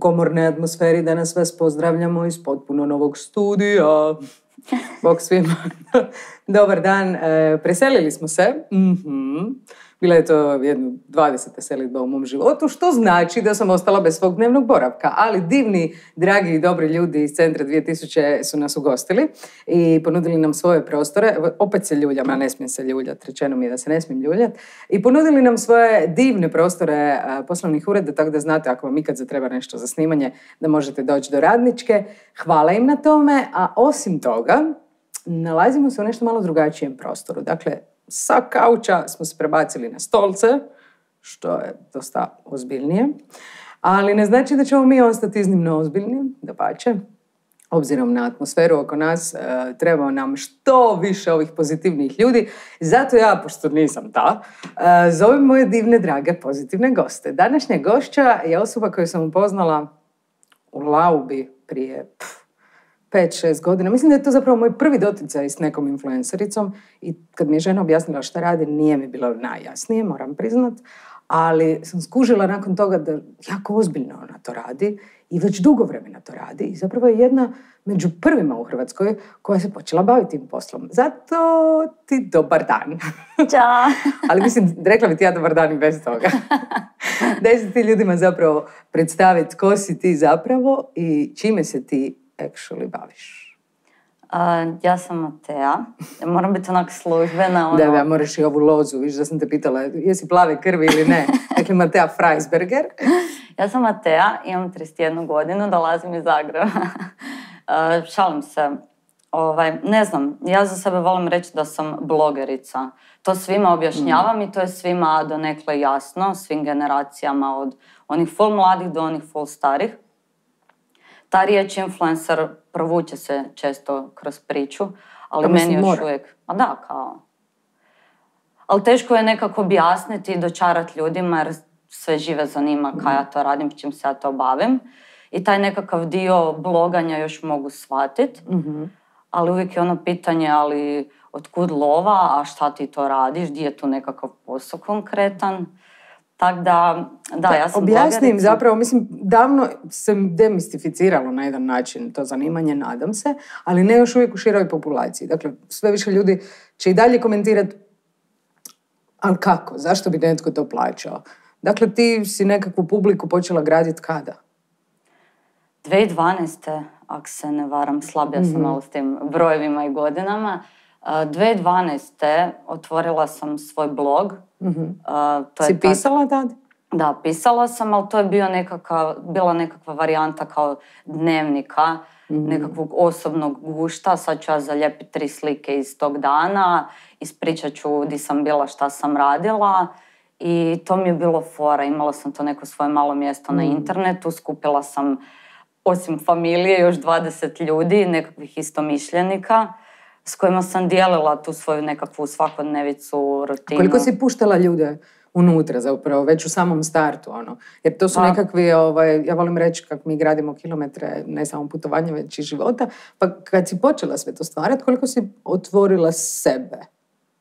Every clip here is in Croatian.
komornoj atmosferi da nas vas pozdravljamo iz potpuno novog studija. Bog svima. Dobar dan. Preselili smo se. Bila je to jedno 20. selidba u mom životu, što znači da sam ostala bez svog dnevnog boravka. Ali divni, dragi i dobri ljudi iz Centra 2000 su nas ugostili i ponudili nam svoje prostore. Opet se ljuljam, a ne smijem se ljuljati. Rečeno mi je da se ne smijem ljuljati. I ponudili nam svoje divne prostore poslovnih ureda, tako da znate ako vam ikad zatreba nešto za snimanje, da možete doći do Radničke. Hvala im na tome, a osim toga, nalazimo se u nešto malo drugačijem prostoru. Dakle, sa kauča smo se prebacili na stolce, što je dosta ozbiljnije, ali ne znači da ćemo mi ostati iznimno ozbiljni, dapače. Obzirom na atmosferu oko nas, treba nam što više ovih pozitivnih ljudi. Zato ja, pošto nisam ta, zovem moje divne, drage, pozitivne goste. Današnja gošća je osoba koju sam upoznala u Laubi prije 5-6 godina. Mislim da je to zapravo moj prvi doticaj s nekom influencericom i kad mi je žena objasnila šta radi, nije mi bilo najjasnije, moram priznat, ali sam skužila nakon toga da jako ozbiljno ona to radi i već dugo vremena to radi i zapravo je jedna među prvima u Hrvatskoj koja se počela baviti tim poslom. Zato ti dobar dan. Ćao. Ali mislim, rekla bi ti ja dobar dan i bez toga. Daj se ti ljudima zapravo predstaviti ko si ti zapravo i čime se ti actually baviš. Ja sam Matea. Moram biti onak službena. Da, moraš i ovu lozu. Viš da sam te pitala, jesi plave krvi ili ne? Dakle, Matea Freisberger. Ja sam Matea, imam 31 godinu, dolazim iz Zagreba. Šalim se. Ne znam, ja za sebe volim reći da sam blogerica. To svima objašnjavam i to je svima donekle jasno, svim generacijama, od onih full mladih do onih full starih. Ta riječ influencer provuče se često kroz priču, ali meni još uvijek... A da, kao... Ali teško je nekako objasniti i dočarati ljudima jer sve žive zanima kaj ja to radim, čim se ja to bavim. I taj nekakav dio bloganja još mogu shvatiti. Ali uvijek je ono pitanje, ali otkud lova, a šta ti to radiš, gdje je tu nekakav posao konkretan. Tako da, ja sam objasnim zapravo, mislim, davno se demistificiralo na jedan način to zanimanje, nadam se, ali ne još uvijek u široj populaciji. Dakle, sve više ljudi će i dalje komentirati, ali kako, zašto bi netko to plaćao? Dakle, ti si nekakvu publiku počela graditi kada? 2012. ako se ne varam, slabija sam malo s tim brojevima i godinama. 2012. otvorila sam svoj blog. Si pisala tad? Da, pisala sam, ali to je bila nekakva varijanta kao dnevnika, nekakvog osobnog gušta. Sad ću ja zalijepiti 3 slike iz tog dana, ispričat ću di sam bila, šta sam radila i to mi je bilo fora. Imala sam to neko svoje malo mjesto na internetu, skupila sam osim familije još 20 ljudi, nekakvih istomišljenika, s kojima sam dijelila tu svoju nekakvu svakodnevicu, rutinu. Koliko si puštala ljude unutra zapravo, već u samom startu, ono? Jer to su nekakvi, ja volim reći kako mi gradimo kilometre, ne samo putovanja, već i života, pa kad si počela sve to stvarati, koliko si otvorila sebe?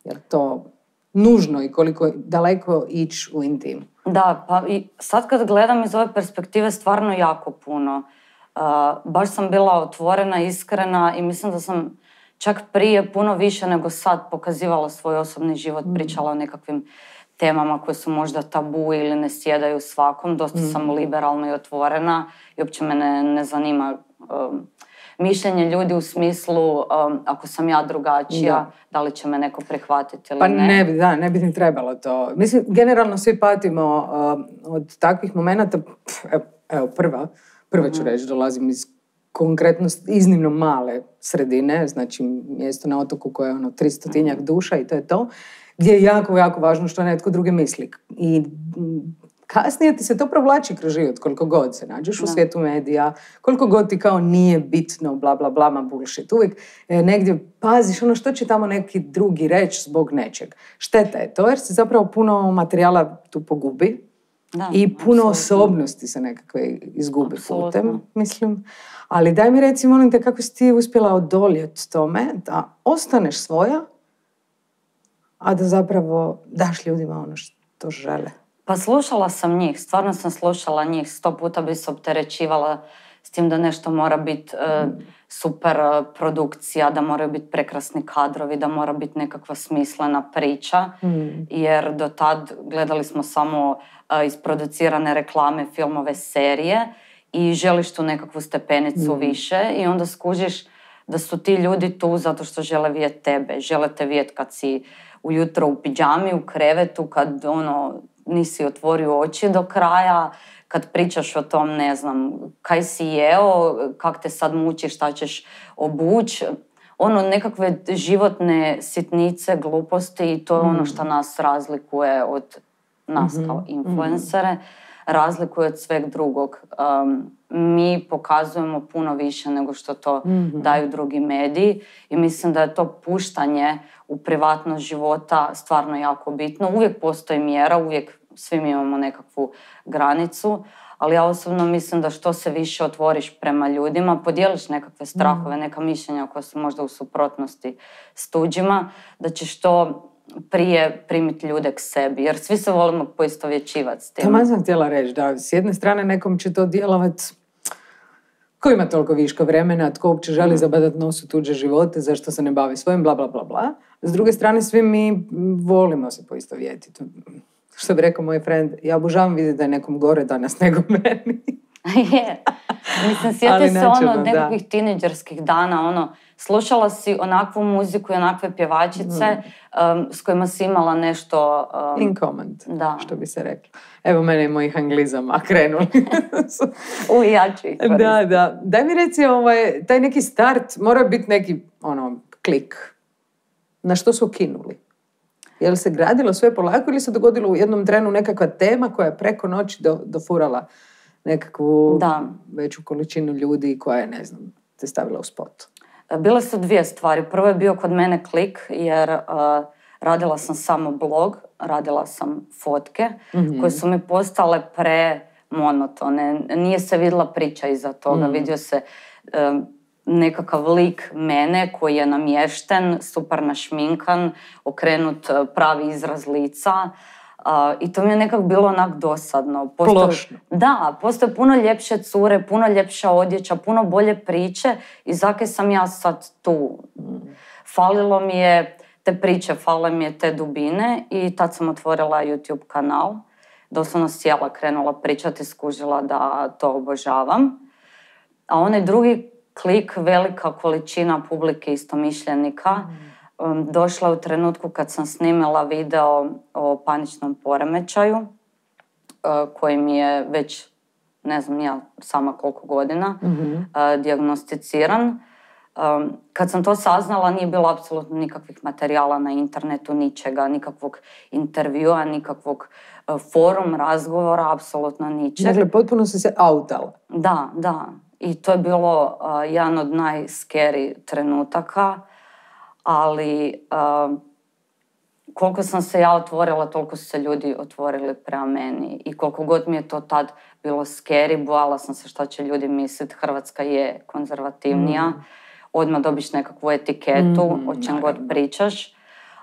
Jer to nužno i koliko daleko ići u intim? Da, pa i sad kad gledam iz ove perspektive stvarno jako puno. Baš sam bila otvorena, iskrena i mislim da sam čak prije puno više nego sad pokazivala svoj osobni život, pričala o nekakvim temama koje su možda tabu ili ne sjedaju svakom. Dosta sam liberalna i otvorena i uopće me ne zanima mišljenje ljudi u smislu ako sam ja drugačija, da li će me neko prihvatiti ili ne. Pa ne bi ni trebalo to. Mislim, generalno svi patimo od takvih momenata. Evo, prva ću reći, dolazim iz konkretno iznimno male sredine, znači mjesto na otoku koje je 300-tinjak duša i to je to, gdje je jako, jako važno što netko drugi misli. I kasnije ti se to provlači kroz život, koliko god se nađeš u svijetu medija, koliko god ti kao nije bitno, bla, bla, bla, ma bullshit. Uvijek negdje paziš što će tamo neki drugi reći zbog nečeg. Šteta je to jer se zapravo puno materijala tu pogubi. I puno osobnosti se nekakve izgubi putem, mislim. Ali daj mi reci, molim te, kako si ti uspjela odoljeti tome da ostaneš svoja, a da zapravo daš ljudima ono što žele? Pa slušala sam njih, stvarno sam slušala njih, 100 puta bi se opterećivala s tim da nešto mora biti super produkcija, da moraju biti prekrasni kadrovi, da mora biti nekakva smislena priča, jer do tad gledali smo samo isproducirane reklame, filmove, serije i želiš tu nekakvu stepenicu više i onda skužiš da su ti ljudi tu zato što žele vidjeti tebe, žele te vidjeti kad si ujutro u pidžami, u krevetu, kad nisi otvorio oči do kraja, kad pričaš o tom, ne znam, kaj si jeo, kak te sad muči, šta ćeš obući, nekakve životne sitnice, gluposti i to je ono što nas razlikuje od nas kao influencere, razlikuje od sveg drugog. Mi pokazujemo puno više nego što to daju drugi mediji i mislim da je to puštanje u privatnost života stvarno jako bitno. Uvijek postoji mjera, uvijek svi mi imamo nekakvu granicu, ali ja osobno mislim da što se više otvoriš prema ljudima, podijeliš nekakve strahove, neka mišljenja koja su možda u suprotnosti s tuđima, da ćeš to prije primiti ljude k sebi, jer svi se volimo poistovjećivati s tim. Tamo sam htjela reći da s jedne strane nekom će to djelovati ko ima toliko viška vremena, tko uopće želi zabadati nos u tuđe živote, zašto se ne bavi svojim, bla, bla, bla, bla. S druge strane, svi mi volimo se poistovjetiti. Što bi rekao moj friend, ja obožavam vidjeti da je nekom gore danas nego meni. Je. Mislim, sjeti se od nekakvih tineđerskih dana, slušala si onakvu muziku i onakve pjevačice s kojima si imala nešto... in common, što bi se reklo. Evo mene i mojih anglizama krenuli. Ja ću ih koristiti. Da. Daj mi reci, taj neki start mora biti neki, klik. Na što su kinuli? Je li se gradilo sve polako ili se dogodilo u jednom trenu nekakva tema koja je preko noći dofurala nekakvu veću količinu ljudi koja je, ne znam, te stavila u spot? Bile su dvije stvari. Prvo je bio kod mene klik jer radila sam samo blog, radila sam fotke koje su mi postale premonotone. Nije se vidjela priča iza toga. Vidio se nekakav lik mene koji je namješten, super našminkan, okrenut pravi izraz lica. I to mi je nekako bilo onak dosadno. Plošno. Da, postoje puno ljepše cure, puno ljepša odjeća, puno bolje priče i zakaj sam ja sad tu. Falilo mi je te priče, falile mi je te dubine i tad sam otvorila YouTube kanal. Doslovno sjela, krenula pričati, skužila da to obožavam. A onaj drugi klik, velika količina publike istomišljenika, došla u trenutku kad sam snimila video o paničnom poremećaju, koji mi je već, ne znam ja sama koliko godina, dijagnosticiran. Kad sam to saznala, nije bilo apsolutno nikakvih materijala na internetu, ničega, nikakvog intervjua, nikakvog forum, razgovora, apsolutno ničeg. Dakle, potpuno si se outala. Da. I to je bilo jedan od najskeri trenutaka, ali koliko sam se ja otvorila, toliko su se ljudi otvorili prema meni. I koliko god mi je to tad bilo scary, bojala sam se šta će ljudi misliti, Hrvatska je konzervativnija, odmah dobiš nekakvu etiketu, o čem god pričaš.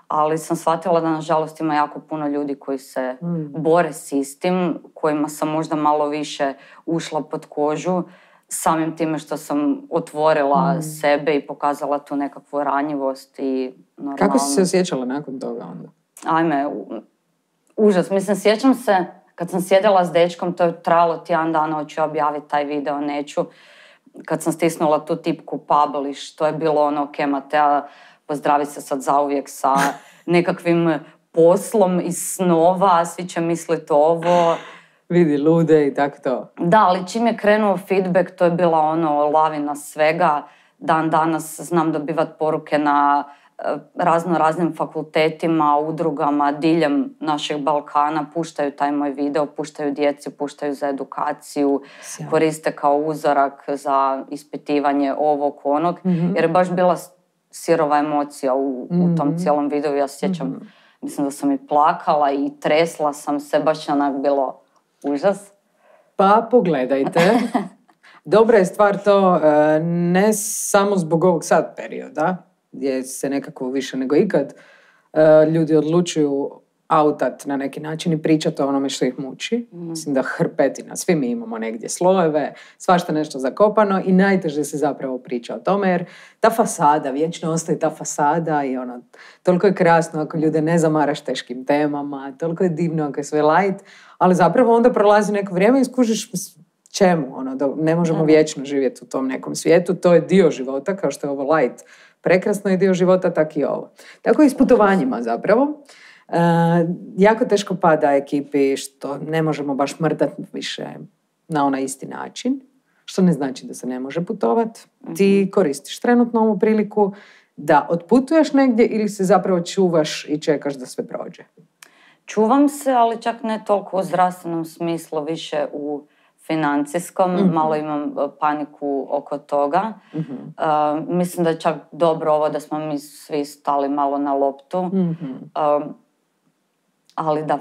Ali sam shvatila da nažalost ima jako puno ljudi koji se bore s istim, kojima sam možda malo više ušla pod kožu, samim time što sam otvorila sebe i pokazala tu nekakvu ranjivost i normalno... Kako si se osjećala nakon toga onda? Ajme, užas. Mislim, sjećam se kad sam sjedila s dečkom, to je trajalo tjedan dana, hoću objaviti taj video, neću. Kad sam stisnula tu tipku publish, to je bilo ok, Matea, pozdravi se sad zauvijek sa nekakvim poslom iz snova, svi će misliti ovo... Vidi lude i tako to. Da, ali čim je krenuo feedback, to je bila lavina svega. Dan danas znam dobivat poruke na raznim fakultetima, udrugama, diljem našeg Balkana, puštaju taj moj video, puštaju djeci, puštaju za edukaciju, koriste kao uzorak za ispitivanje ovog, onog, jer je baš bila sirova emocija u tom cijelom videu. Ja sjećam, mislim da sam i plakala i tresla sam se, baš onak bilo užas. Pa pogledajte. Dobra je stvar to, ne samo zbog ovog sad perioda, gdje se nekako više nego ikad ljudi odlučuju autat na neki način i pričati o onome što ih muči. Mislim da hrpetina, svi mi imamo negdje slojeve, svašta nešto zakopano i najteže se zapravo priča o tome, jer ta fasada, vječno ostaje ta fasada i ono, toliko je krasno ako ljude ne zamaraš teškim temama, toliko je divno ako je sve light, ali zapravo onda prolazi neko vrijeme i skužiš čemu, ono, da ne možemo vječno živjeti u tom nekom svijetu, to je dio života, kao što je ovo light prekrasno i dio života, tak i ovo. Tako i s putovanjima zapravo. Jako teško pada ekipi što ne možemo baš mrdati više na onaj isti način, što ne znači da se ne može putovati. Ti koristiš trenutno ovu priliku da otputuješ negdje ili se zapravo čuvaš i čekaš da sve prođe? Čuvam se, ali čak ne toliko u zdravstvenom smislu, više u financijskom. Malo imam paniku oko toga. Mislim da je čak dobro ovo da smo mi svi stali malo na loptu. Ali da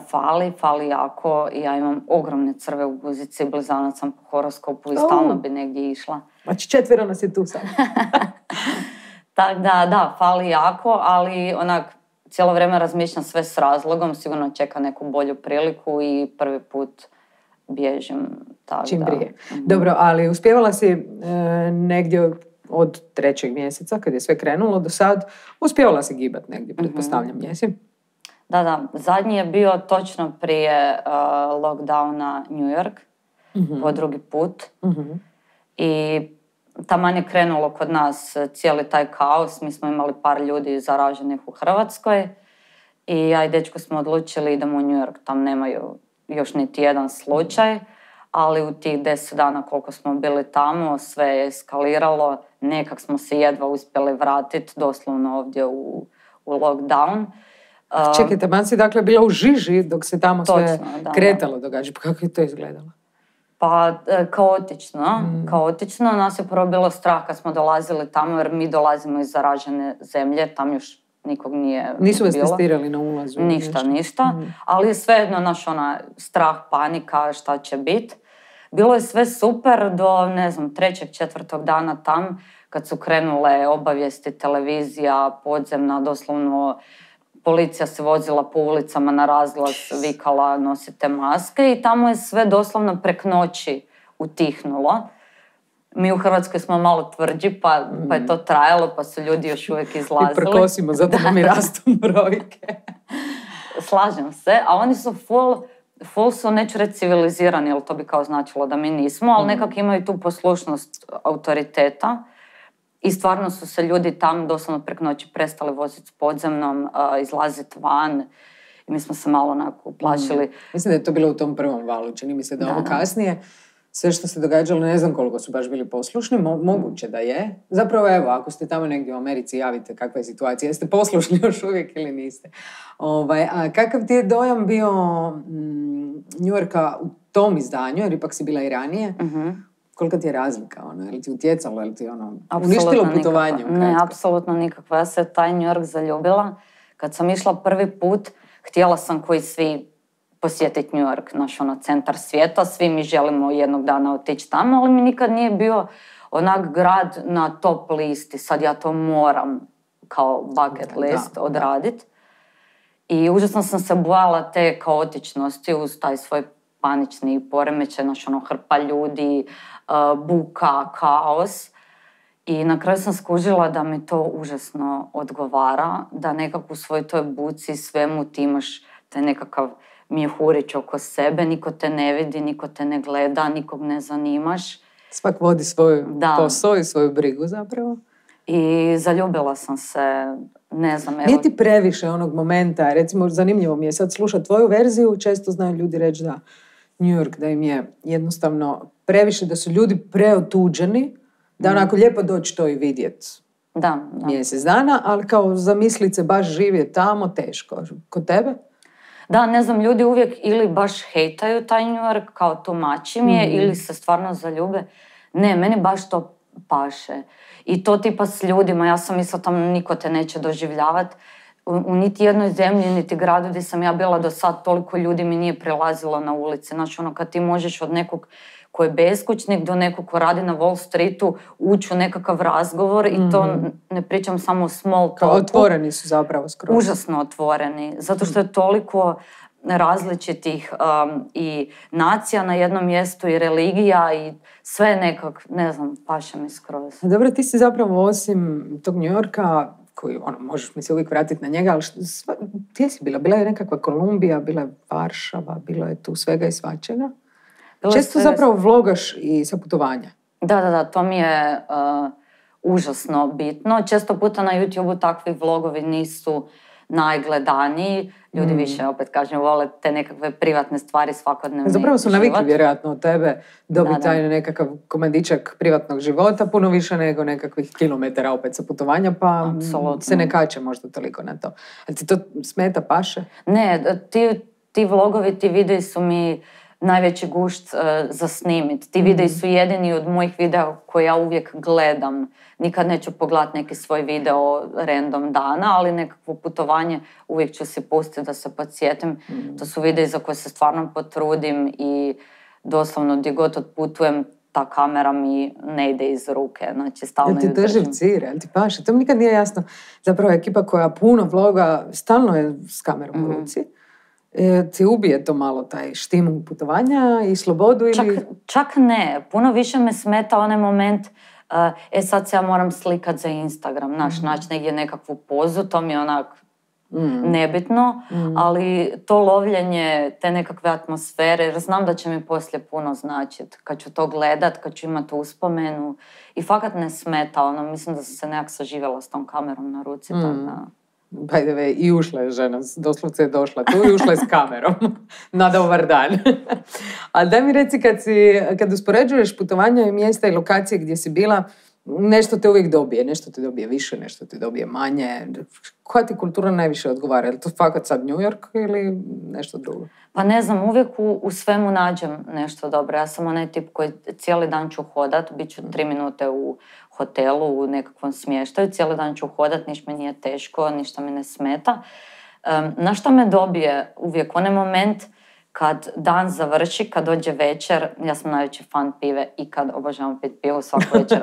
fali jako. Ja imam ogromne crve u guzici, blizanac sam po horoskopu i stalno bi negdje išla. Znači 4 nas je tu sad. Tako da, fali jako, ali onak cijelo vrijeme razmišljam sve s razlogom, sigurno čeka neku bolju priliku i prvi put bježim. Čim prije. Dobro, ali uspjevala si negdje od 3. mjeseca, kad je sve krenulo do sad, uspjevala si gibat negdje, pretpostavljam, jesi? Da. Zadnji je bio točno prije lockdowna New York, po drugi put. I taman je krenulo kod nas cijeli taj kaos. Mi smo imali par ljudi zaraženih u Hrvatskoj i ja i dečko smo odlučili idemo u New York. Tam nemaju još niti jedan slučaj, ali u tih 10 dana koliko smo bili tamo sve je eskaliralo. Nekak smo se jedva uspjeli vratiti doslovno ovdje u lockdown. Čekaj, taman si dakle bila u žiži dok se tamo sve kretalo događa. Pa kako je to izgledalo? Pa kaotično. Nas je prvo bilo strah kad smo dolazili tamo, jer mi dolazimo iz zaražene zemlje, tam još nikog nije bilo. Nisu vas testirali na ulazu? Ništa. Ali je svejedno naš strah, panika, šta će biti. Bilo je sve super do, 3. 4. dana tam, kad su krenule obavijesti, televizija, podzemna, doslovno policija se vozila po ulicama na razglas, vikala nosite maske i tamo je sve doslovno prek noći utihnulo. Mi u Hrvatskoj smo malo tvrđi, pa je to trajalo, pa su ljudi još uvijek izlazili. I prkosimo, zato nam i rastu brojke. Slažem se, a oni su full su, neću reći civilizirani, jer to bi kao značilo da mi nismo, ali nekako imaju tu poslušnost autoriteta. I stvarno su se ljudi tam doslovno prek noći prestali voziti s podzemnom, izlaziti van. I mi smo se malo onako uplašili. Mislim da je to bilo u tom prvom valu. Čini mi se da ovo kasnije, sve što se događalo, ne znam koliko su baš bili poslušni, moguće da je. Zapravo evo, ako ste tamo negdje u Americi, javite kakva je situacija. Jeste poslušni još uvijek ili niste? A kakav ti je dojam bio New Yorka u tom izdanju, jer ipak si bila i ranije? Kolika ti je razlika? Je li ti utjecalo? Je li ti uništilo putovanje? Ne, apsolutno nikakva. Ja se taj New York zaljubila. Kad sam išla prvi put, htjela sam koji svi posjetiti New York, centar svijeta. Svi mi želimo jednog dana otići tamo, ali mi nikad nije bio onak grad na top listi. Sad ja to moram kao bucket list odraditi. I užasno sam se bojala te kaotičnosti uz taj svoj panični poremećaj, hrpa ljudi, buka, kaos. I na kraju sam skužila da mi to užasno odgovara, da nekako u svoj toj buci svemu ti imaš taj nekakav mjehurić oko sebe, niko te ne vidi, niko te ne gleda, nikog ne zanimaš. Svak vodi svoj posao i svoju brigu zapravo. I zaljubila sam se, ne znam, evo... Nije ti previše onog momenta, recimo zanimljivo mi je sad slušati tvoju verziju, često znaju ljudi reći da New York, da im je jednostavno previše, da su ljudi preotuđeni, da onako lijepo doći to i vidjeti. Da. Mjesec dana, ali kao zamislit se baš živjeti tamo, teško. Kod tebe? Da, ne znam, ljudi uvijek ili baš hejtaju taj New York, kao tumačim je, ili se stvarno zaljube. Ne, meni baš to paše. I to tipa s ljudima, ja sam mislila tamo niko te neće doživljavati. U niti jednoj zemlji, niti gradu gdje sam ja bila do sad, toliko ljudi mi nije prilazilo na ulici. Znači, kad ti možeš od nekog ko je beskućnik do nekog ko radi na Wall Streetu ući u nekakav razgovor i to ne pričam samo o small talku. Otvoreni su zapravo skroz. Užasno otvoreni, zato što je toliko različitih i nacija na jednom mjestu i religija i sve nekak, ne znam, paše mi skroz. Dobro, ti si zapravo osim tog New Yorka, koji možeš mi se uvijek vratiti na njega, ali gdje si bila? Bila je nekakva Kolumbija, bila je Varšava, bilo je tu svega i svačega. Često zapravo vlogaš i sa putovanja. Da, to mi je užasno bitno. Često puta na YouTube-u takvi vlogovi nisu najgledaniji. Ljudi više, opet kažem, vole te nekakve privatne stvari, svakodnevni zapravo su navikli vjerojatno od tebe dobiti taj nekakav komadičak privatnog života, puno više nego nekakvih kilometara opet sa putovanja, pa se ne kače možda toliko na to. A ti to smeta, paše? Ne, ti vlogovi, ti videi su mi najveći gušt za snimit. Ti videi su jedini od mojih videa koje ja uvijek gledam. Nikad neću pogledati neki svoj video random dana, ali nekakvo putovanje uvijek ću si pustiti da se podsjetim. To su videi za koje se stvarno potrudim i doslovno gdje god otputujem, ta kamera mi ne ide iz ruke. Znači, stalno ju držim. Jel ti drži cire, jel ti paše? To mi nikad nije jasno. Zapravo ekipa koja puno vloga, stalno je s kamerom u ruci. Ti ubije to malo taj štim putovanja i slobodu ili... Čak ne. Puno više me smeta onaj moment sad se ja moram slikat za Instagram. Naći negdje nekakvu pozu, to mi je onak nebitno, ali to lovljenje te nekakve atmosfere, jer znam da će mi poslije puno značiti. Kad ću to gledat, kad ću imati uspomenu i fakat ne smeta, mislim da sam se nekak saživjela s tom kamerom na ruci, tako da... By the way, i ušla je žena, doslovce je došla tu i ušla je s kamerom. Na dobar dan. A daj mi reci, kad uspoređuješ putovanja i mjesta i lokacije gdje si bila, nešto te uvijek dobije, nešto te dobije više, nešto te dobije manje. Koja ti kultura najviše odgovara? Je li to fakat sad New York ili nešto drugo? Pa ne znam, uvijek u svemu nađem nešto dobro. Ja sam onaj tip koji cijeli dan ću hodat, bit ću 3 minute u hotelu, u nekakvom smještaju, cijeli dan ću hodat, ništa mi nije teško, ništa mi ne smeta. Na što me dobije uvijek onaj moment kad dan završi, kad dođe večer, ja sam najveći fan pive i kad obožavam pit pivu svaku večer.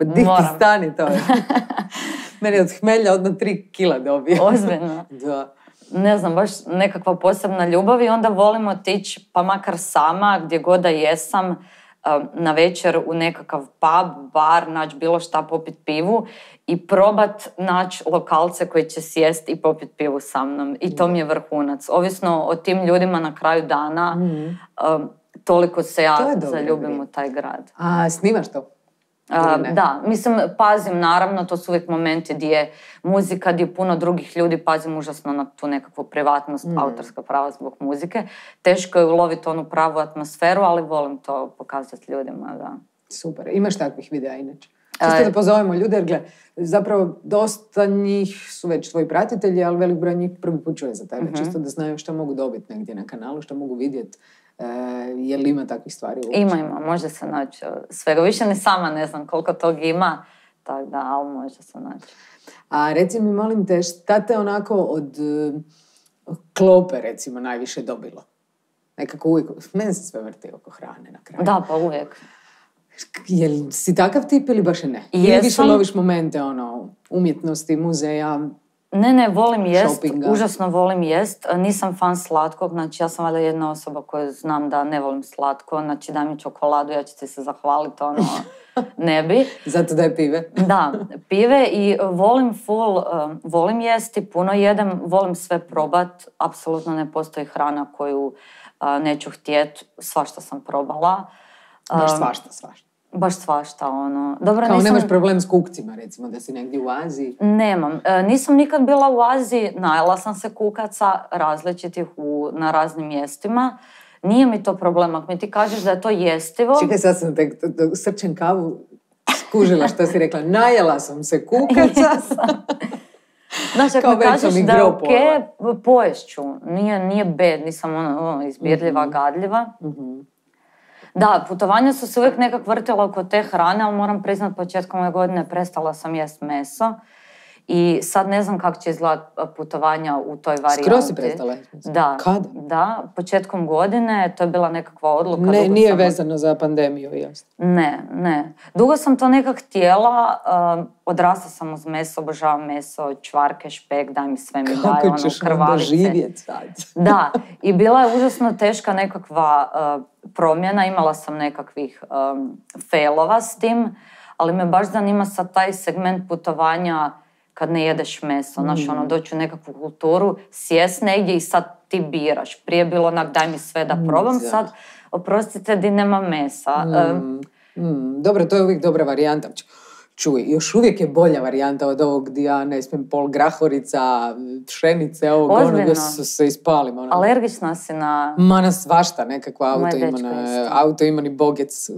Di ti stani to je. Meni od hmelja odmah 3 kila dobije. Ozbiljno. Da. Ne znam, baš nekakva posebna ljubav i onda volim otići, pa makar sama, gdje god da jesam, na večer u nekakav pub, bar, naći bilo šta, popit pivu i probat naći lokalce koji će sjest i popit pivu sa mnom. I to mi je vrhunac. Ovisno o tim ljudima na kraju dana, toliko se ja zaljubim u taj grad. A snimaš to? Da, mislim, pazim naravno, to su uvijek momenti gdje je muzika, gdje je puno drugih ljudi, pazim užasno na tu nekakvu privatnost, autorska prava zbog muzike. Teško je uloviti onu pravu atmosferu, ali volim to pokazati ljudima, da. Super, imaš takvih videa inače? Čisto da pozovemo ljude, jer gledaj, zapravo dosta njih su već tvoji pratitelji, ali velik broj njih prvi put čuje za tebe. Čisto da znaju što mogu dobiti negdje na kanalu, što mogu vidjeti. Je li ima takvih stvari uopće? Ima, može se naći svega. Više ni sama ne znam koliko tog ima, tako da, ali može se naći. A reci mi, molim te, šta te onako od klope, recimo, najviše dobilo? Nekako uvijek, meni se sve vrti oko hrane na kraju. Da, pa uvijek. Jel si takav tip ili baš ne? Ili više loviš momente, umjetnosti, muzeja? Ne, volim jest, užasno volim jest. Nisam fan slatkog, znači ja sam valjda jedna osoba koja znam da ne volim slatko, znači daj mi čokoladu, ja ću ti se zahvaliti, ne bi. Zato daj pive. Da, pive i volim jesti, puno jedem, volim sve probat, apsolutno ne postoji hrana koju neću htjeti, svašta sam probala. Baš svašta. Baš svašta, Dobro, kao nemaš problem s kukcima, recimo, da si negdje u Aziji? Nemam. Nisam nikad bila u Aziji, najela sam se kukaca različitih na raznim mjestima. Nije mi to problem, ako mi ti kažeš da je to jestivo... Čekaj, sad sam te srčem kavu skužila što si rekla. Najela sam se kukaca. Znači, ako mi kažeš da je okej, poješću. Nije bed, nisam izbirljiva, gadljiva. Da, putovanja su se uvijek nekak vrtila oko te hrane, ali moram priznat, početkom ove godine prestala sam jest meso I sad ne znam kako će izgledati putovanja u toj varijanti. Skroz si prestala? Da. Kada? Da, početkom godine, to je bila nekakva odluka. Nije vezano za pandemiju, jasno. Ne. Dugo sam to nekak htjela, odrasla sam uz meso, obožavam meso, čvarke, špek, daj mi sve mi daj, Kako ćeš onda živjeti sad? Da, i bila je užasno teška nekakva promjena, imala sam nekakvih failova s tim, ali me baš zanima sad taj segment putovanja kad ne jedeš meso, znaš, doći u nekakvu kulturu, sjest negdje i sad ti biraš. Prije bilo onak, daj mi sve da probam, sad, oprostite, di nema mesa. Dobro, to je uvijek dobra varijanta. Čuj, još uvijek je bolja varijanta od ovog gdje ja ne smijem pol grahorica, pšenice, ovog onoga se ispalim. Alergična si na... Ma na svašta, nekakva autoimani bogec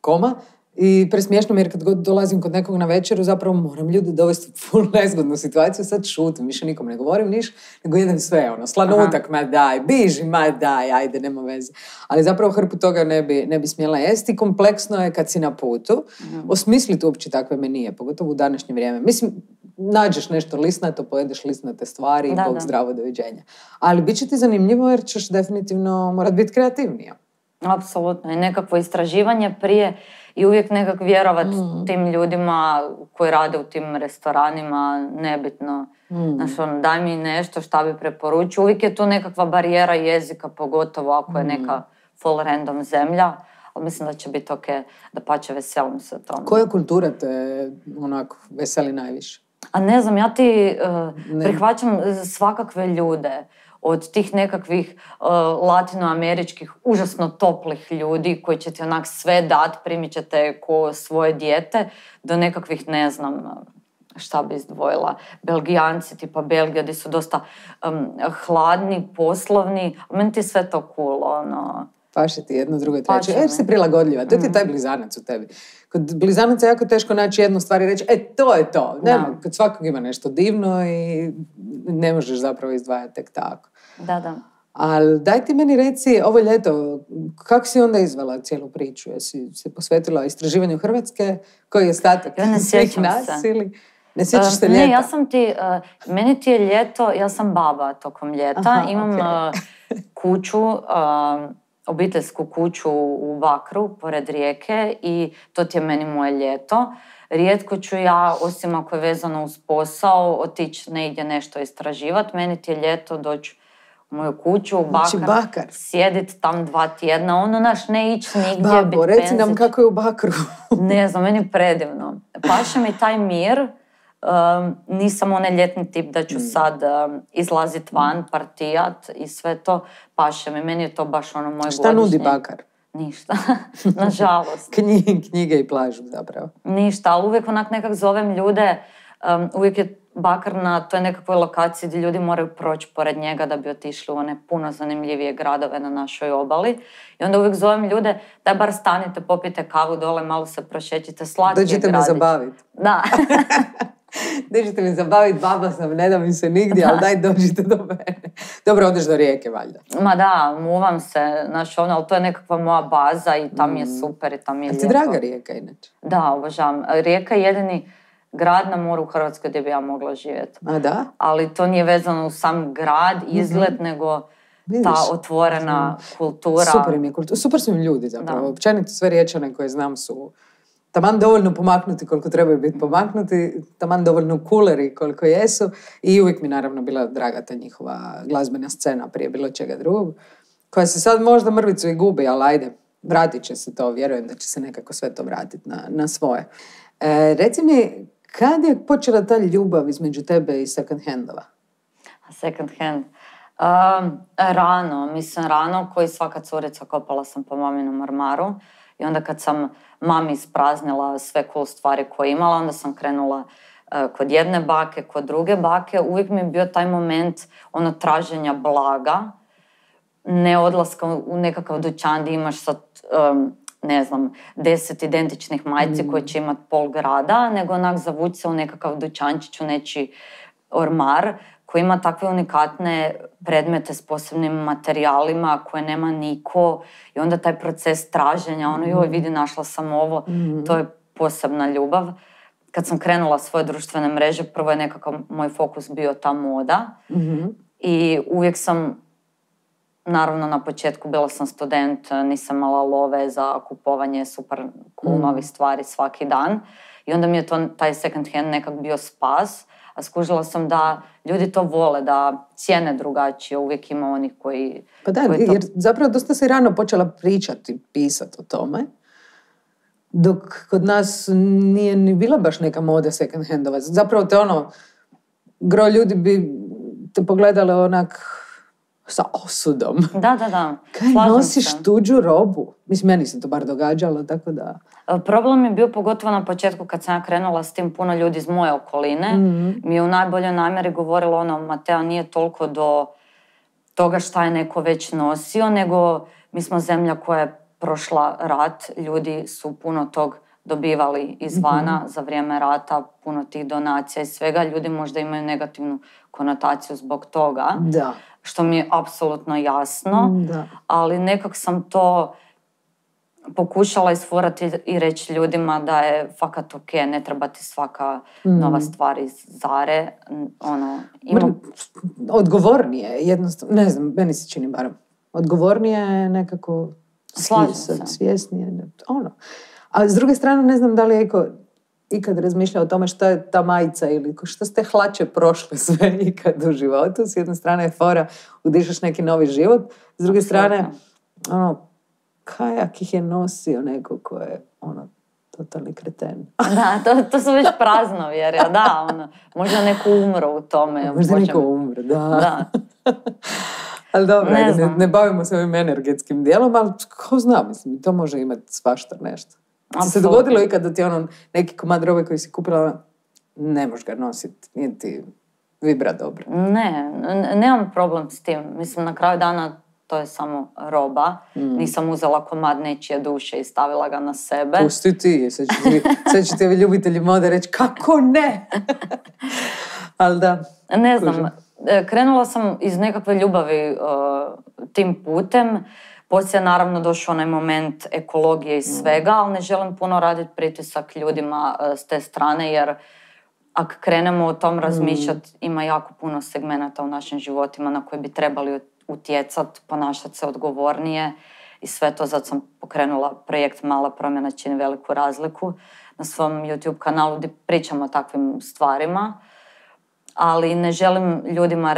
koma. I presmiješno mi jer kad god dolazim kod nekog na večeru zapravo moram ljude dovesti u full nezgodnu situaciju, sad šutim, više nikom ne govorim niš, nego jedem sve, slanutak, ma daj, biži, ma daj, ajde, nema veze. Ali zapravo hrpu toga ne bi smjela jesti. Kompleksno je kad si na putu, osmisliti uopće takve menije, pogotovo u današnje vrijeme. Mislim, nađeš nešto lisnato, pojedeš lisnate stvari i bog zdravo, doviđenja. Ali bit će ti zanimljivo jer ćeš definitivno morat biti kreativnija. Apsolutno, i nekakvo istraživanje prije i uvijek nekak vjerovat tim ljudima koji rade u tim restoranima, nebitno. Znaš, daj mi nešto šta bi preporučio. Uvijek je tu nekakva barijera jezika, pogotovo ako je neka full random zemlja. Ali mislim da će biti ok, da pače veselim se tomu. Koja kultura te onako veseli najviše? A ne znam, ja ti prihvaćam svakakve ljude. Od tih nekakvih latinoameričkih užasno toplih ljudi koji će ti onak sve dat, primit ćete ko svoje dijete, do nekakvih, ne znam, šta bi izdvojila, Belgijanci, tipa Belgija, gdje su dosta hladni, poslovni, a meni ti sve to cool, Paše ti jedno, drugo, treće. Jer si prilagodljiva. To ti je taj blizanac u tebi. Kod blizanaca je jako teško naći jednu stvar i reći, to je to. Nema, kod svakog ima nešto divno i ne možeš zapravo izdvajati tek tako. Da. Ali daj ti meni reci, ovo ljeto, kako si onda izvela cijelu priču? Jesi se posvetila istraživanju Hrvatske? Koji je ostatak svih nas? Ili... Ne sjećaš se ljeta? Ne, ja sam ti, meni ti je ljeto, ja sam baba tokom ljeta. Imam kuću, obiteljsku kuću u Bakru, pored rijeke i to ti je meni moje ljeto. Rijetko ću ja, osim ako je vezano uz posao, otići negdje nešto istraživati. Meni ti je ljeto doći u moju kuću, u Bakar. Sjediti tam 2 tjedna, naš ne ići nigdje, biti penzić. Reci nam kako je u Bakru. Ne znam, meni je predivno. Paše mi taj mir. Nisam onaj ljetni tip da ću sad izlaziti van, partijat i sve to. Paše mi, meni je to baš moj godišnji. Šta nudi Bakar? Ništa, nažalost. Knjige i plažu zapravo. Ništa, ali uvijek onak nekak zovem ljude, uvijek je Bakar na toj nekakvoj lokaciji gdje ljudi moraju proći pored njega da bi otišli u one puno zanimljivije gradove na našoj obali. I onda uvijek zovem ljude, daj bar stanite, popijte kavu dole, malo se prošećite, slatki je gradić. Dođite me zabaviti. Da. Dođite mi zabaviti, baba sam, ne da mi se nigdje, ali daj dođite do mene. Dobro, odeš do rijeke, valjda. Ma da, muvam se, ali to je nekakva moja baza i tam je super i tam je lijepo. A ti draga rijeka inače? Da, obožavam. Rijeka je jedini grad na moru u Hrvatskoj gdje bi ja mogla živjeti. A da? Ali to nije vezano u sam grad, izgled, nego ta otvorena kultura. Super im je kultura. Super su im ljudi zapravo. Općenito sve Riječane koje znam su taman dovoljno pomaknuti koliko trebaju biti pomaknuti, taman dovoljno kuleri koliko jesu i uvijek mi naravno bila draga ta njihova glazbena scena prije bilo čega drugog, koja se sad možda mrvicu i gubi, ali ajde, vratit će se to, vjerujem da će se nekako sve to vratiti na svoje. Reci mi, kad je počela ta ljubav između tebe i second handova? Second hand? Rano, koji svaka curica kopala sam po maminom ormaru. I onda kad sam mami ispraznila sve cool stvari koje imala, onda sam krenula kod jedne bake, kod druge bake. Uvijek mi je bio taj moment traženja blaga, ne odlaska u nekakav dućan gdje imaš sad, 10 identičnih majici koje će imati pol grada, nego onak zavući se u nekakav dućančić, u nečiji ormar koji ima takve unikatne predmete s posebnim materijalima koje nema niko i onda taj proces traženja, joj vidi našla sam ovo, to je posebna ljubav. kad sam krenula svoje društvene mreže, prvo je nekakav moj fokus bio ta moda. I uvijek sam, naravno na početku bila sam student, nisam imala love za kupovanje super cool novih stvari svaki dan. I onda mi je taj second hand nekak bio spas. A skužila sam da ljudi to vole, da cijene drugačije, uvijek ima onih koji... Pa da, jer zapravo dosta si rano počela pričati, pisati o tome, dok kod nas nije ni bila baš neka moda second handova. Zapravo te gro ljudi bi te pogledale onak sa osudom. Da. Kaj nosiš tuđu robu? Mislim, meni se to bar događalo, tako da... Problem je bio pogotovo na početku kad sam ja krenula s tim, puno ljudi iz moje okoline. Mi je u najboljoj namjeri govorilo Matea, nije toliko do toga šta je neko već nosio, nego mi smo zemlja koja je prošla rat, ljudi su puno tog dobivali izvana za vrijeme rata, puno tih donacija i svega. Ljudi možda imaju negativnu konotaciju zbog toga. Da. Što mi je apsolutno jasno, ali nekak sam to pokušala isfurati i reći ljudima da je fakat ok, ne treba ti svaka nova stvar iz Zare. Odgovornije, jednostavno, ne znam, meni se čini barem. Odgovornije je nekako svjesnije. A s druge strane, ne znam da li je ikad razmišljao o tome šta je ta majica ili što ste hlače prošle sve ikad u životu. S jedne strane je fora, udišaš neki novi život. S druge strane, kajak ih je nosio neko ko je totalni kreten. Da, to su već praznovjerja, da, možda neko umro u tome. Možda neko umro, da. Ali dobro, ne bavimo se ovim energetskim dijelom, ali ko zna, mislim, to može imati svašta nešto. Ti se dogodilo ikad da ti neki komad robe koji si kupila, ne možeš ga nositi, nije ti vibra dobro? Ne, nemam problem s tim. Mislim, na kraju dana to je samo roba. Nisam uzela komad nečije duše i stavila ga na sebe. Pusti ti, sad će ti ovi ljubitelji mode reći, kako ne? Ali da. Ne znam, krenula sam iz nekakve ljubavi tim putem. Poslije je naravno došao onaj moment ekologije i svega, ali ne želim puno raditi pritisak ljudima s te strane, jer ako krenemo o tom razmišljati, ima jako puno segmenata u našim životima na koje bi trebali utjecati, ponašati se odgovornije i sve to. Zato sam pokrenula projekt Mala promjena čini veliku razliku na svom YouTube kanalu gdje pričam o takvim stvarima, ali ne želim ljudima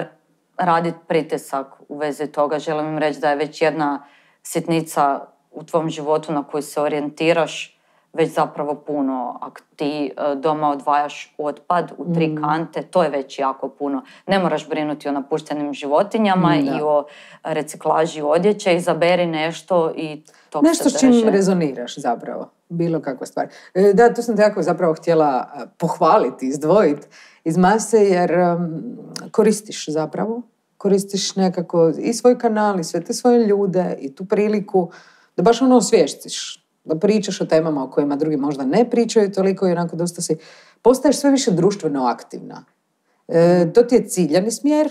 raditi pritisak u vezi toga. Želim im reći da je već jedna sitnica u tvom životu na koju se orijentiraš već zapravo puno. Ako ti doma odvajaš otpad u 3 kante, to je već jako puno. Ne moraš brinuti o napuštenim životinjama i o reciklaži odjeće. Izaberi nešto i tog se drže. Nešto s čim rezoniraš zapravo. Bilo kakva stvar. Da, tu sam te jako zapravo htjela pohvaliti, izdvojiti iz mase, jer koristiš zapravo. Koristiš nekako i svoj kanal i sve te svoje ljude i tu priliku da baš osvijestiš, da pričaš o temama o kojima drugi možda ne pričaju toliko i onako dosta postaješ sve više društveno aktivna. To ti je ciljani smjer,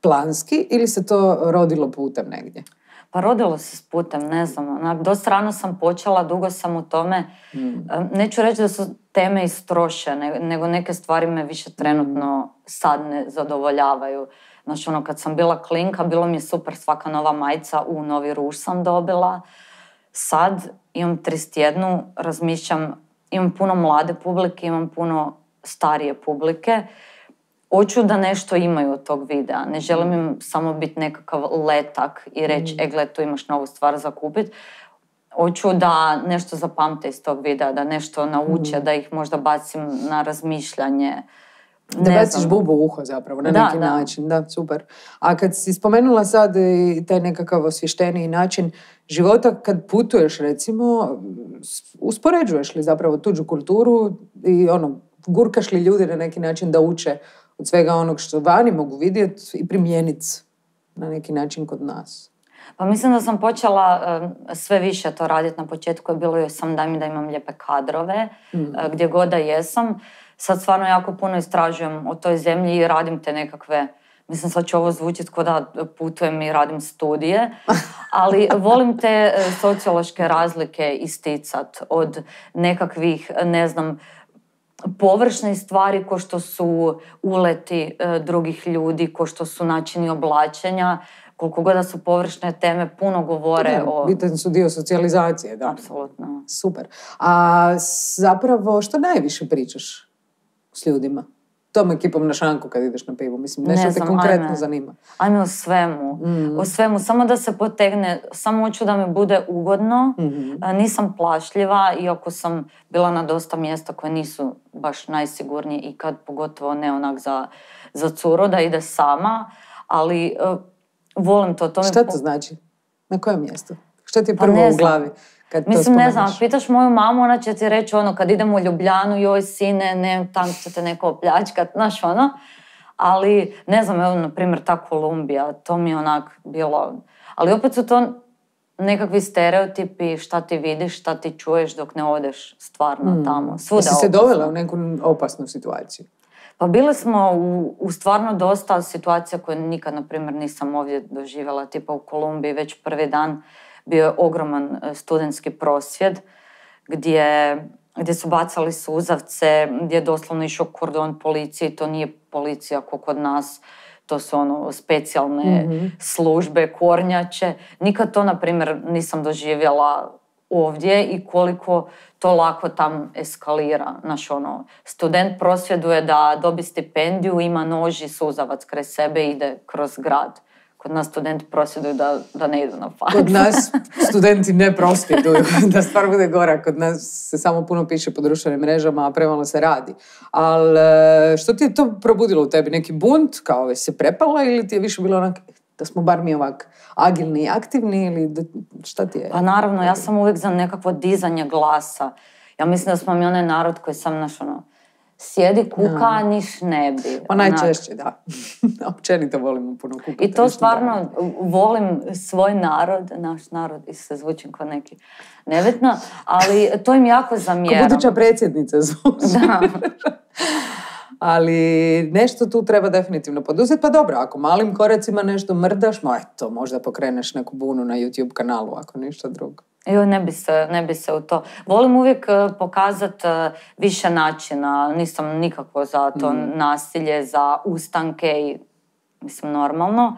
planski, ili se to rodilo putem negdje? Pa rodilo se s putem, ne znam. Dosta rano sam počela, dugo sam u tome. Neću reći da su teme istrošene, nego neke stvari me više trenutno sad ne zadovoljavaju. Znači, kad sam bila klinka, bilo mi je super, svaka nova majica, novi ruž sam dobila. Sad imam 31, razmišljam, imam puno mlade publike, imam puno starije publike. Hoću da nešto imaju od tog videa. Ne želim im samo biti nekakav letak i reći, gle, tu imaš novu stvar za kupiti. Hoću da nešto zapamte iz tog videa, da nešto nauče, da ih možda bacim na razmišljanje. Da baciš bubu u uho zapravo, na neki način. Da, super. A kad si spomenula sad i taj nekakav osvješteniji način života, kad putuješ recimo, uspoređuješ li zapravo tuđu kulturu i gurkaš li ljude na neki način da uče od svega onog što vani mogu vidjeti i primijeniti na neki način kod nas? Pa mislim da sam počela sve više to raditi. Na početku je bilo joj sam daj mi da imam lijepe kadrove, gdje god da jesam. Sad stvarno jako puno istražujem o toj zemlji i radim te nekakve, mislim sad će ovo zvučiti kao da putujem i radim studije, ali volim te sociološke razlike isticat od nekakvih, ne znam, površne stvari ko što su uleti drugih ljudi, ko što su načini oblačenja, koliko god da su površne teme, puno govore o... Bitan su dio socijalizacije, da. Apsolutno. Super. A zapravo, što najviše pričaš s ljudima? Tom ekipom na šanku kad ideš na pivu? Mislim, nešto te konkretno zanima. Ajme o svemu. O svemu. Samo da se potegne. Samo hoću da mi bude ugodno. Nisam plašljiva, iako sam bila na dosta mjesta koje nisu baš najsigurnije i kad pogotovo ne onak za curo da ide sama. Ali volim to. Šta to znači? Na kojem mjestu? Šta ti je prvo u glavi? Mislim, ne znam, pitaš moju mamu, ona će ti reći kad idemo u Ljubljanu, joj sine, ne, tam će te neko opljačkat, znaš ali ne znam, evo, na primjer, ta Kolumbija, to mi je onak bilo, ali opet su to nekakvi stereotipi, šta ti vidiš, šta ti čuješ dok ne odeš stvarno tamo. Svuda si se dovela u neku opasnu situaciju? Pa bili smo u stvarno dosta situacija koje nikad, na primjer, nisam ovdje doživjela, tipa u Kolumbiji, već prvi dan bio je ogroman studentski prosvjed gdje su bacali suzavce, gdje je doslovno išao kordon policije. To nije policija kao kod nas, to su specijalne službe, kornjače. Nikad to, na primjer, nisam doživjela ovdje i koliko to lako tam eskalira. Student prosvjeduje da dobi stipendiju, ima nož i suzavac kraj sebe i ide kroz grad. Kod nas studenti prosvjeduju da ne idu na faks. Kod nas studenti ne prosvjeduju, da stvar bude gora. Kod nas se samo puno piše po društvenim mrežama, a premalo se radi. Ali što ti je to probudilo u tebi? Neki bunt, kao se prepala, ili ti je više bilo onak da smo bar mi ovak agilni i aktivni, ili šta ti je? Pa naravno, ja sam uvijek za nekakvo dizanje glasa. Ja mislim da smo mi onaj narod koji sam sjedi kuka, niš ne bi. Pa najčešće, da. Općenito volimo puno kukati. I to stvarno volim svoj narod, naš narod, i se zvučim kao neki nebitno, ali to im jako zamjeram. Ko buduća predsjednica zvuči. Da. Ali nešto tu treba definitivno poduzeti. Pa dobro, ako malim koracima nešto mrdaš, eto, možda pokreneš neku bunu na YouTube kanalu, ako ništa drugo. Jo, ne bi se u to. Volim uvijek pokazati više načina. Nisam nikako za to nasilje, za ustanke i mislim normalno.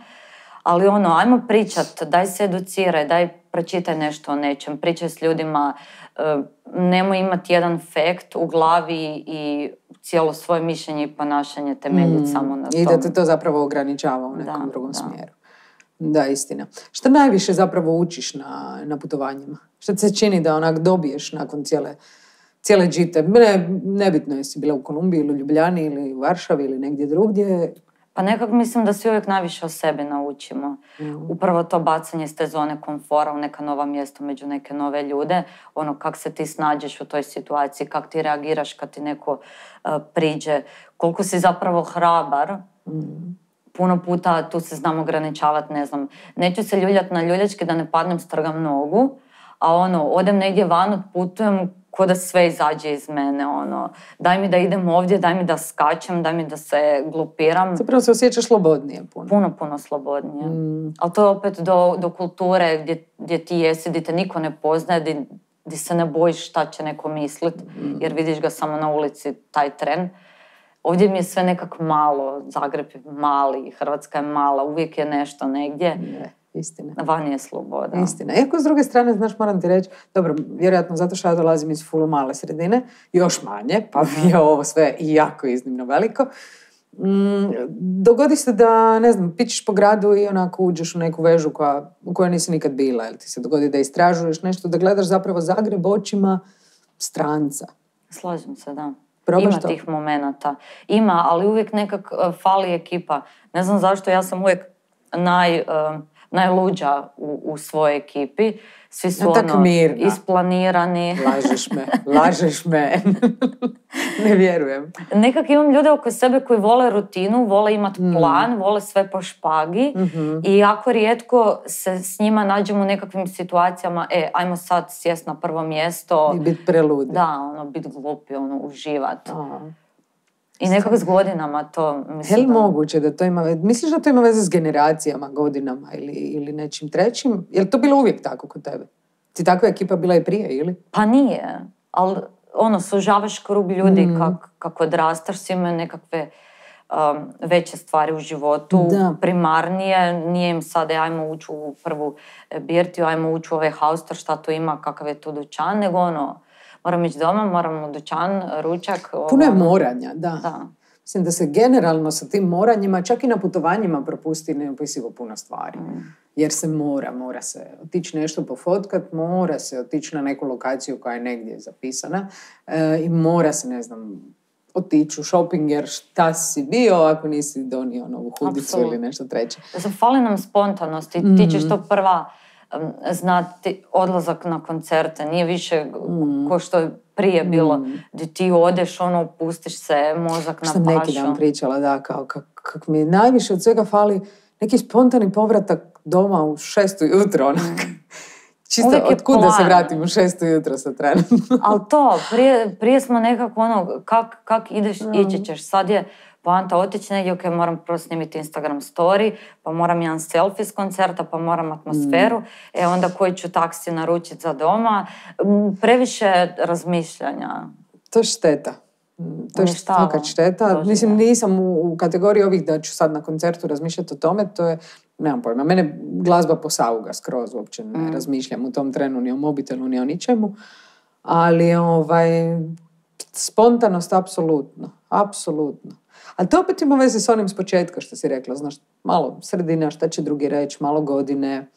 Ali ajmo pričat, daj se educiraj, daj pročitaj nešto o nečem, pričaj s ljudima, nemoj imati jedan fakt u glavi i cijelo svoje mišljenje i ponašanje temeljiti samo na tom. I da te to zapravo ograničava u nekom drugom smjeru. Da, istina. Šta najviše zapravo učiš na putovanjima? Šta ti se čini da onak dobiješ nakon cijele džite? Nebitno jesi bila u Kolumbiji ili u Ljubljani ili u Varšavi ili negdje drugdje. Pa nekako mislim da svi uvijek najviše o sebi naučimo. Upravo to bacanje iz te zone komfora u neka nova mjesta među neke nove ljude. Kak se ti snađeš u toj situaciji, kak ti reagiraš kad ti neko priđe. Koliko si zapravo hrabar. Puno puta tu se znam ograničavati, ne znam. Neću se ljuljati na ljuljačke da ne padnem, strgam nogu, a odem negdje van, odputujem ko da sve izađe iz mene, daj mi da idem ovdje, daj mi da skačem, daj mi da se glupiram. Zapravo se osjećaš slobodnije puno. Puno slobodnije. Ali to je opet do kulture gdje ti jesi, gdje te niko ne poznaje, gdje se ne bojiš šta će neko mislit, jer vidiš ga samo na ulici taj tren. Ovdje mi je sve nekako malo, Zagreb je mali, Hrvatska je mala, uvijek je nešto negdje. Istina. Van je sloboda. Istina. Iako s druge strane, znaš, moram ti reći, dobro, vjerojatno zato što ja dolazim iz full male sredine, još manje, pa mi je ovo sve jako iznimno veliko. Dogodi se da, ne znam, pićeš po gradu i onako uđeš u neku vežu u kojoj nisi nikad bila, ili ti se dogodi da istražuješ nešto, da gledaš zapravo Zagreb očima stranca. Slažem se, da. Probaš ima to? Tih momenata. Ima, ali uvijek nekak fali ekipa. Ne znam zašto, ja sam uvijek najluđa u svojoj ekipi. Svi su isplanirani. Lažeš me. Ne vjerujem. Nekak imam ljude oko sebe koji vole rutinu, vole imati plan, vole sve po špagi i jako rijetko se s njima nađemo u nekakvim situacijama, ajmo sad sjest na prvo mjesto. I biti preludi. Da, biti glupi, uživati. I nekako s godinama to... Je li moguće da to ima... Misliš da to ima veze s generacijama, godinama ili nečim trećim? Je li to bilo uvijek tako kod tebe? Ti takva ekipa bila i prije, ili? Pa nije, ali sužavaš krug ljudi kako odrastaš, svi imaju nekakve veće stvari u životu, primarnije, nije im sada ajmo ući u prvu birtiju, ajmo ući u ovaj haustor, šta to ima, kakav je tu dućan, nego moram ići doma, moram u dućan, ručak. Puno je moranja, da. Mislim da se generalno sa tim moranjima, čak i na putovanjima propusti neopisivo puno stvari. Jer se mora se otići nešto pofotkat, mora se otići na neku lokaciju koja je negdje zapisana i mora se, ne znam, otići u shopping jer šta si bio ako nisi donio novu hudicu ili nešto treće. Fali nam spontanost. Ti ćeš to prva znati, odlazak na koncerte. Nije više ko što je prije bilo. Gdje ti odeš, pustiš se, mozak na pašu. Što neki dan pričala, da, kao kak mi najviše od svega fali neki spontani povratak doma u 6 ujutro, onak. Čisto otkud da se vratim u 6 ujutro sa trenutno. Ali to, prije smo nekako kak ideš, ići ćeš. Sad je poanta otići negdje, ok, moram prvo snimiti Instagram story, pa moram jedan selfie s koncerta, pa moram atmosferu, onda koji ću taksi naručiti za doma. Previše razmišljanja. To je šteta. To je fakat šteta. Mislim, nisam u kategoriji ovih da ću sad na koncertu razmišljati o tome, to je, nemam pojma, mene glazba posauga skroz, uopće ne razmišljam u tom trenu ni o mobitelu, ni o ničemu, ali spontanost apsolutno. Ali to opet ima veze s onim s početka što si rekla, znaš, malo sredina, šta će drugi reći, malo godine,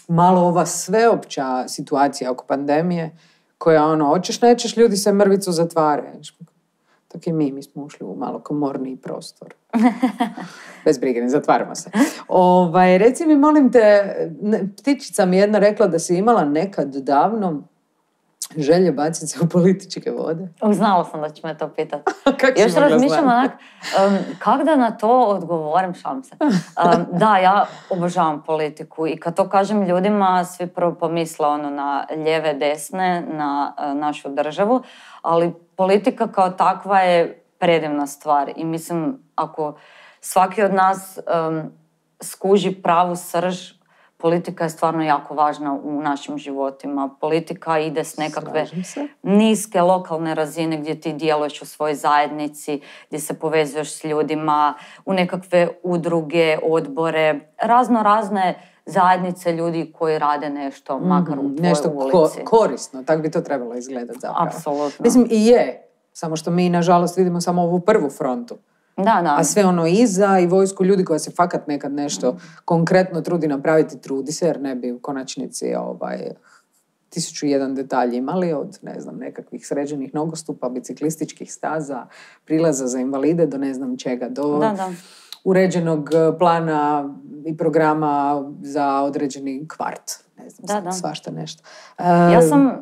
malo ova sveopća situacija oko pandemije, koja hoćeš, nećeš, ljudi se mrvicu zatvaraju. Tako i mi smo ušli u malo komorniji prostor. Bez brige, ne zatvaramo se. Reci mi, molim te, ptičica mi jedna rekla da si imala nekad davno želje baciti se u političke vode. Znala sam da će me to pitati. Još razmišljam onak, kak da na to odgovorim, šalim se. Da, ja obožavam politiku i kad to kažem ljudima, svi prvo pomisle na lijeve, desne, na našu državu, ali politika kao takva je predivna stvar i mislim, ako svaki od nas skuži pravu srž, politika je stvarno jako važna u našim životima. Politika ide s nekakve niske lokalne razine gdje ti djeluješ u svojoj zajednici, gdje se povezuješ s ljudima, u nekakve udruge, odbore, razne zajednice ljudi koji rade nešto, makar u tvojoj ulici. Nešto korisno, tako bi to trebalo izgledati zapravo. Apsolutno. Mislim, i je, samo što mi nažalost vidimo samo ovu prvu frontu. Da. A sve iza i vojsku ljudi koja se fakat nekad nešto konkretno trudi napraviti, trudi se, jer ne bi u konačnici 1001 detalj imali od, ne znam, nekakvih sređenih nogostupa, biciklističkih staza, prilaza za invalide do ne znam čega, do uređenog plana i programa za određeni kvart. Ne znam, svašta nešto.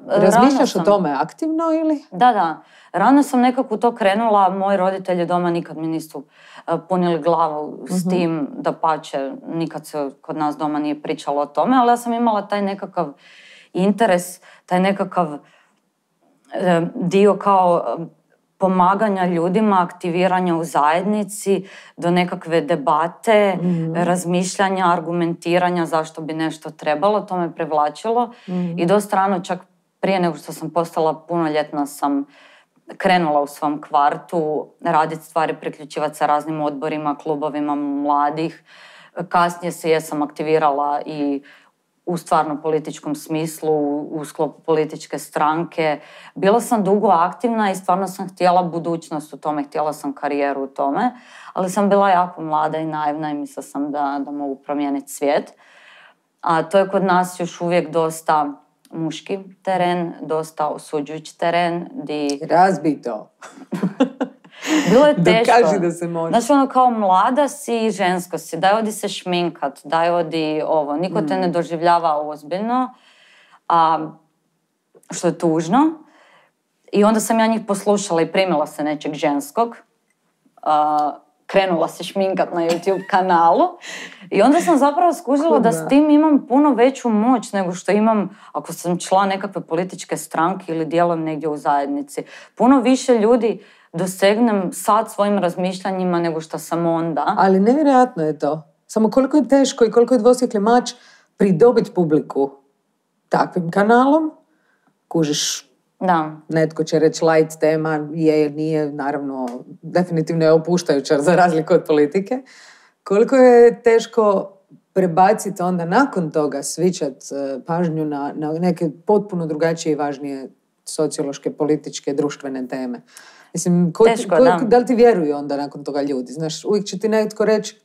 Razmišljaš o tome aktivno ili? Da. Rano sam nekako to krenula, moji roditelji doma nikad mi nisu punili glavu s tim, da pače, nikad se kod nas doma nije pričalo o tome, ali ja sam imala taj nekakav interes, taj nekakav dio kao pomaganja ljudima, aktiviranja u zajednici, do nekakve debate, razmišljanja, argumentiranja zašto bi nešto trebalo, to me privlačilo. I dosta rano, čak prije nego što sam postala punoljetna, sam krenula u svom kvartu raditi stvari, priključivati se raznim odborima, klubovima mladih. Kasnije se jesam aktivirala i u stvarno političkom smislu, u sklopu političke stranke. Bila sam dugo aktivna i stvarno sam htjela budućnost u tome, htjela sam karijeru u tome, ali sam bila jako mlada i naivna i mislila sam da mogu promijeniti svijet. A to je kod nas još uvijek dosta muški teren, dosta osuđujući teren. Razbi to. Bilo je teško. Dokaži da se može. Znači, kao mlada si i žensko si, daj odi se šminkat, daj odi ovo. Niko te ne doživljava ozbiljno, što je tužno. I onda sam ja njih poslušala i primila se nečeg ženskog. Krenula se šminkat na YouTube kanalu. I onda sam zapravo skužila da s tim imam puno veću moć nego što imam ako sam član nekakve političke stranke ili djelujem negdje u zajednici. Puno više ljudi dosegnem sad svojim razmišljanjima nego što sam onda. Ali nevjerojatno je to. Samo koliko je teško i koliko je dvosjekli mač pridobiti publiku takvim kanalom. Kužiš, Da. Netko će reći light tema, nije, naravno, definitivno je opuštajuća za razliku od politike. Koliko je teško prebaciti onda nakon toga, svičat pažnju na neke potpuno drugačije i važnije sociološke, političke, društvene teme. Mislim, da li ti vjeruju onda nakon toga ljudi? Znaš, uvijek će ti netko reći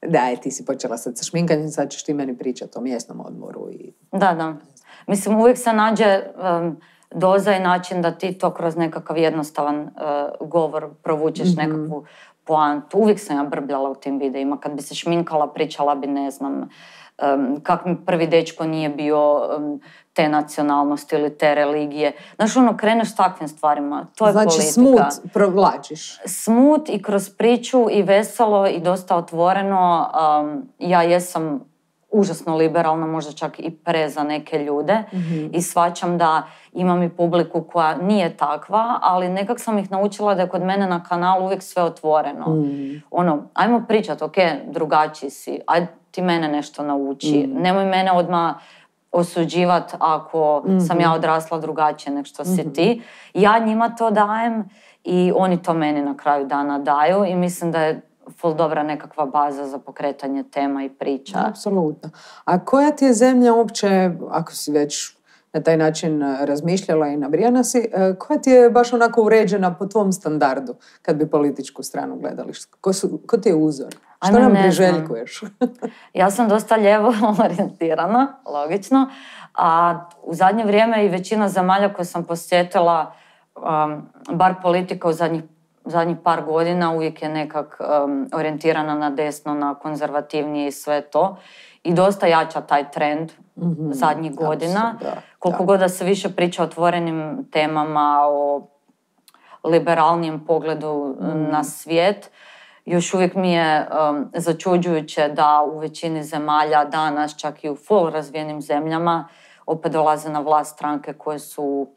daj, ti si počela sad sa šminkanjem, sad ćeš ti meni pričati o mjesnom odmoru. Da. Mislim, uvijek se nađe doza i način da ti to kroz nekakav jednostavan govor provučeš nekakvu poantu. Uvijek sam ja brbljala u tim videima. Kad bi se šminkala, pričala bi, ne znam, kak mi prvi dečko nije bio te nacionalnosti ili te religije. Znaš, kreneš s takvim stvarima. To je znači, politika. Znači, smut provlačiš. Smut i kroz priču i veselo i dosta otvoreno. Ja jesam užasno liberalna, možda čak i za neke ljude i shvaćam da imam i publiku koja nije takva, ali nekak sam ih naučila da je kod mene na kanalu uvijek sve otvoreno. Ajmo pričat, ok, drugačiji si, ajde ti mene nešto nauči. Nemoj mene odmah osuđivat ako sam ja odrasla drugačije nek što si ti. Ja njima to dajem i oni to meni na kraju dana daju i mislim da je ful dobra nekakva baza za pokretanje tema i priča. Apsolutno. A koja ti je zemlja uopće, ako si već na taj način razmišljala i nabrijana si, koja ti je baš onako uređena po tvom standardu kad bi političku stranu gledali? Ko ti je uzor? Što nam priželjkuješ? Ja sam dosta lijevo orijentirana, logično, a u zadnje vrijeme i većina zemalja koje sam posjetila, bar politika u zadnjih par godina uvijek je nekak orijentirana na desno, na konzervativnije i sve to. I dosta jača taj trend zadnjih godina. Koliko god da se više priča o otvorenim temama, o liberalnijem pogledu na svijet, još uvijek mi je začuđujuće da u većini zemalja danas, čak i u full razvijenim zemljama, opet dolaze na vlast stranke koje su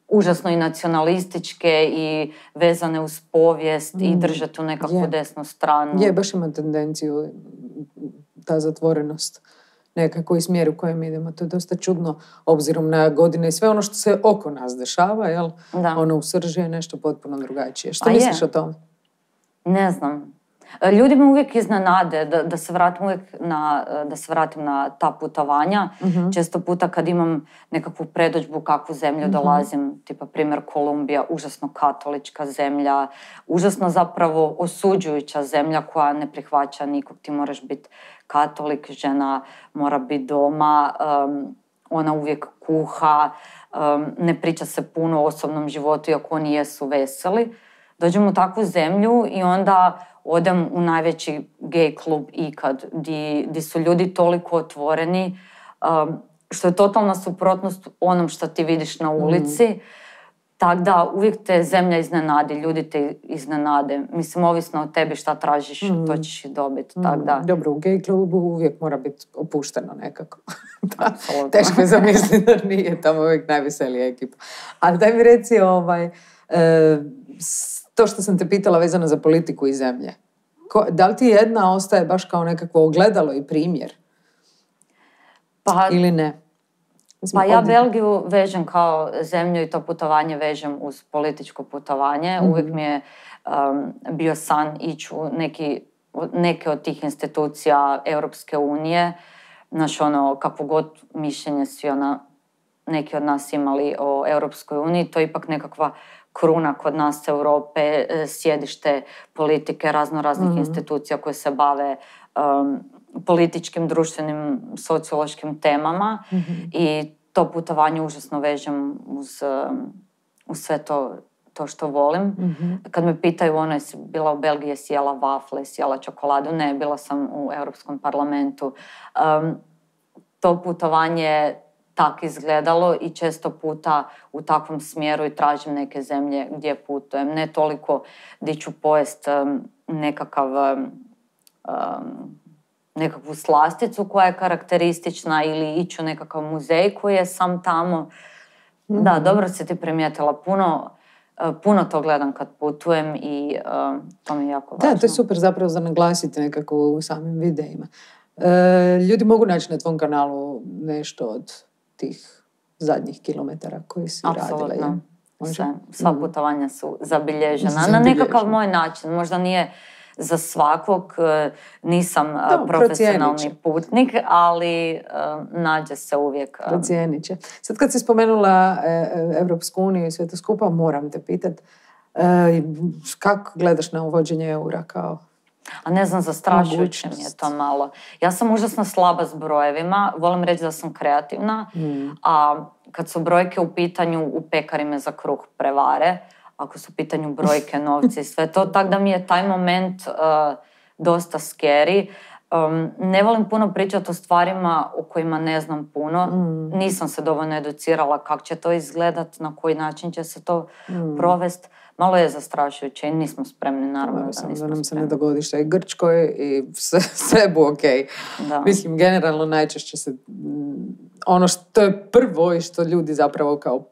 užasno i nacionalističke i vezane uz povijest i drže tu nekakvu desnu stranu. Je, baš ima tendenciju ta zatvorenost nekako i smjer u kojem idemo. To je dosta čudno obzirom na godine i sve ono što se oko nas dešava, jel? Ono u srži je nešto potpuno drugačije. Što misliš o tome? Ne znam. Ljudi me uvijek iznenade da se vratim na ta putovanja. Često puta kad imam nekakvu predodžbu kakvu zemlju dolazim, tipa primjer Kolumbija, užasno katolička zemlja, užasno zapravo osuđujuća zemlja koja ne prihvaća nikog, ti moraš biti katolik, žena mora biti doma, ona uvijek kuha, ne priča se puno o osobnom životu iako oni jesu veseli. Dođem u takvu zemlju i onda odem u najveći gej klub ikad, di su ljudi toliko otvoreni, što je totalna suprotnost onom što ti vidiš na ulici. Tako da uvijek te zemlja iznenadi, ljudi te iznenade. Mislim, ovisno od tebi šta tražiš, to ćeš i dobiti. Dobro, u gej klubu uvijek mora biti opušteno nekako. Teško je zamisliti da nije tamo uvijek najveselija ekipa. Ali daj mi reci, to što sam te pitala vezano za politiku i zemlje. Da li ti jedna ostaje baš kao nekakvo ogledalo i primjer? Ili ne? Pa ja Belgiju vežem kao zemlju i to putovanje vežem uz političko putovanje. Uvijek mi je bio san ići u neke od tih institucija Europske unije. Znaš, kakvo god mišljenje svi neki od nas imali o Europskoj uniji, to je ipak nekakva kruna kod nas Europe, sjedište politike, raznih institucija koje se bave političkim, društvenim, sociološkim temama i to putovanje užasno vežem uz sve to što volim. Kad me pitaju, jesi bila u Belgiji, jesi jela wafle, jesi jela čokoladu? Ne, bila sam u Europskom parlamentu. To putovanje tak izgledalo i često puta u takvom smjeru i tražim neke zemlje gdje putujem. Ne toliko gdje ću pojest nekakvu slasticu koja je karakteristična ili ići u nekakav muzej koji je sam tamo. Da, dobro si ti primijetila. Puno to gledam kad putujem i to mi je jako važno. Da, to je super zapravo za naglasiti nekako u samim videima. Ljudi mogu naći na tvom kanalu nešto od tih zadnjih kilometara koji si radila. Apsolutno. Sva putovanja su zabilježena. Na nekakav moj način. Možda nije za svakog, nisam profesionalni putnik, ali nađe se uvijek. Procijenit će. Sad kad si spomenula Evropsku uniju i sve to skupa, moram te pitat, kako gledaš na uvođenje eura kao? A ne znam, zastrašujuće mi je to malo. Ja sam užasno slaba s brojevima, volim reći da sam kreativna, a kad su brojke u pitanju, u pekari me za kruh prevare, ako su u pitanju brojke, novci i sve to, tako da mi je taj moment dosta scary. Ne volim puno pričati o stvarima o kojima ne znam puno. Nisam se dovoljno educirala kako će to izgledat, na koji način će se to provest. Malo je zastrašujuće i nismo spremni, naravno da nismo spremni. Da nam se ne dogodi što je Grčkoj i sve bu okej. Mislim, generalno najčešće se ono što je prvo i što ljudi zapravo kao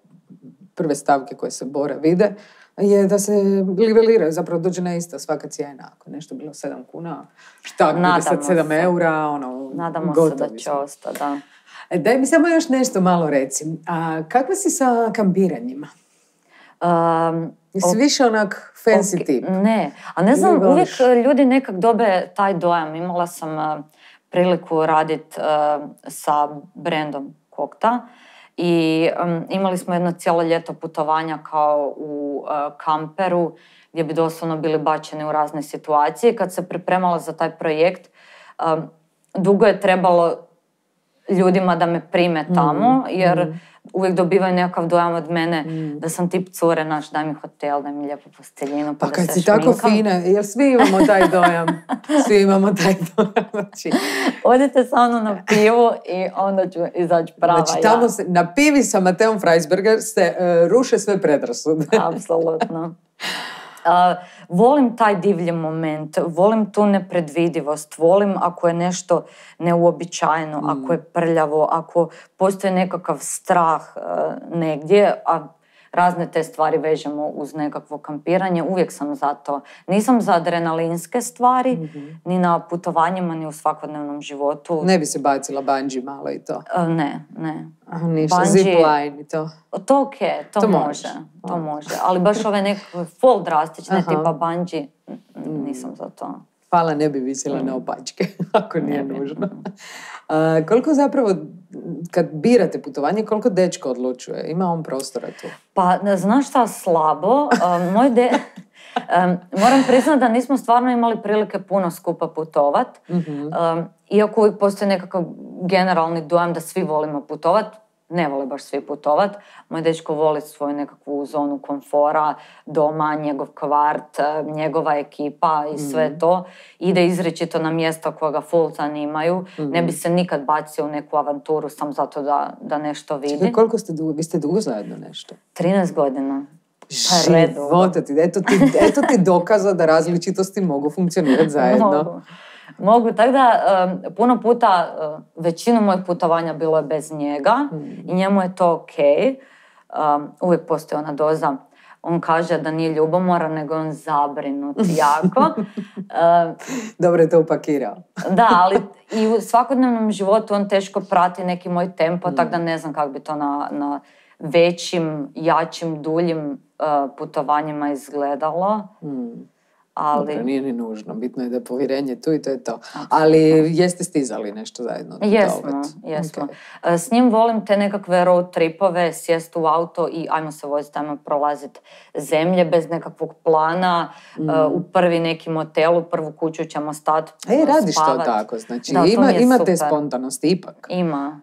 prve stavke koje se bore vide je da se niveliraju, zapravo dođe na isto svaka cijena. Ako je nešto bilo 7 kuna, šta bude sad 7 eura, nadamo se da će ostati, da. Daj mi samo još nešto malo reci. A kakva si sa kampiranjima? Jesi više onak fancy tip? Ne, a ne znam, uvijek ljudi nekak dobe taj dojam. Imala sam priliku raditi sa brendom Kokta i imali smo jedno cijelo ljeto putovanja kao u kamperu gdje bi doslovno bili bačeni u razne situacije. Kad se pripremala za taj projekt, dugo je trebalo ljudima da me prime tamo, jer uvijek dobivaju nekakav dojam od mene da sam tip cure, daj mi hotel, daj mi lijepu posteljinu, pa da se šminkam. Pa kad si tako fina, jer svi imamo taj dojam. Svi imamo taj dojam. Odite sa mnom na pivu i onda ću izaći prava. Znači tamo se, na pivi sa Mateom Freisberger se ruše sve predrasude. Apsolutno. Volim taj divlji moment, volim tu nepredvidivost, volim ako je nešto neuobičajeno, ako je prljavo, ako postoji nekakav strah negdje, a razne te stvari vežemo uz nekakvo kampiranje, uvijek sam za to. Nisam za adrenalinske stvari, ni na putovanjima, ni u svakodnevnom životu. Ne bi se bacila bungee malo i to? Ne. Ništa, zipline i to? To okej, to može. Ali baš ove nekakve full drastične tipa bungee, nisam za to. Hvala, ne bi visila na opačke, ako nije nužno. Koliko zapravo, kad birate putovanje, koliko dečko odlučuje? Ima on prostora tu? Pa, znaš šta, slabo. Moram priznati da nismo stvarno imali prilike puno skupa putovat. Iako uvijek postoji nekakav generalni dojam da svi volimo putovat. Ne vole baš svi putovat. Moj dečko voli svoju nekakvu zonu komfora, doma, njegov kvart, njegova ekipa i sve to. Ide izričito na mjesta koja ga full zanimaju. Ne bi se nikad bacio u neku avanturu sam zato da nešto vidi. Čekaj, koliko ste dugo? Vi ste dugo zajedno nešto? 13 godina. Života ti. Eto ti dokaza da različitosti mogu funkcionirati zajedno. Mogu, tako da puno puta, većinu mojih putovanja bilo je bez njega i njemu je to okej. Uvijek postoji ona doza. On kaže da nije ljubomoran, nego on zabrinut jako. Dobro je to upakirao. Da, ali i u svakodnevnom životu on teško prati neki moj tempo, tako da ne znam kako bi to na većim, jačim, duljim putovanjima izgledalo. Ali... Dobro, nije ni nužno. Bitno je da je povjerenje tu i to je to. Ali jeste stizali nešto zajedno? Jesmo. Okay. S njim volim te nekakve road tripove, sjest u auto i ajmo se voziti, ajmo prolaziti zemlje bez nekakvog plana. U prvi neki motel, u prvu kuću ćemo stati, radiš spavat. To tako, znači da, ima te spontanosti ipak. Ima.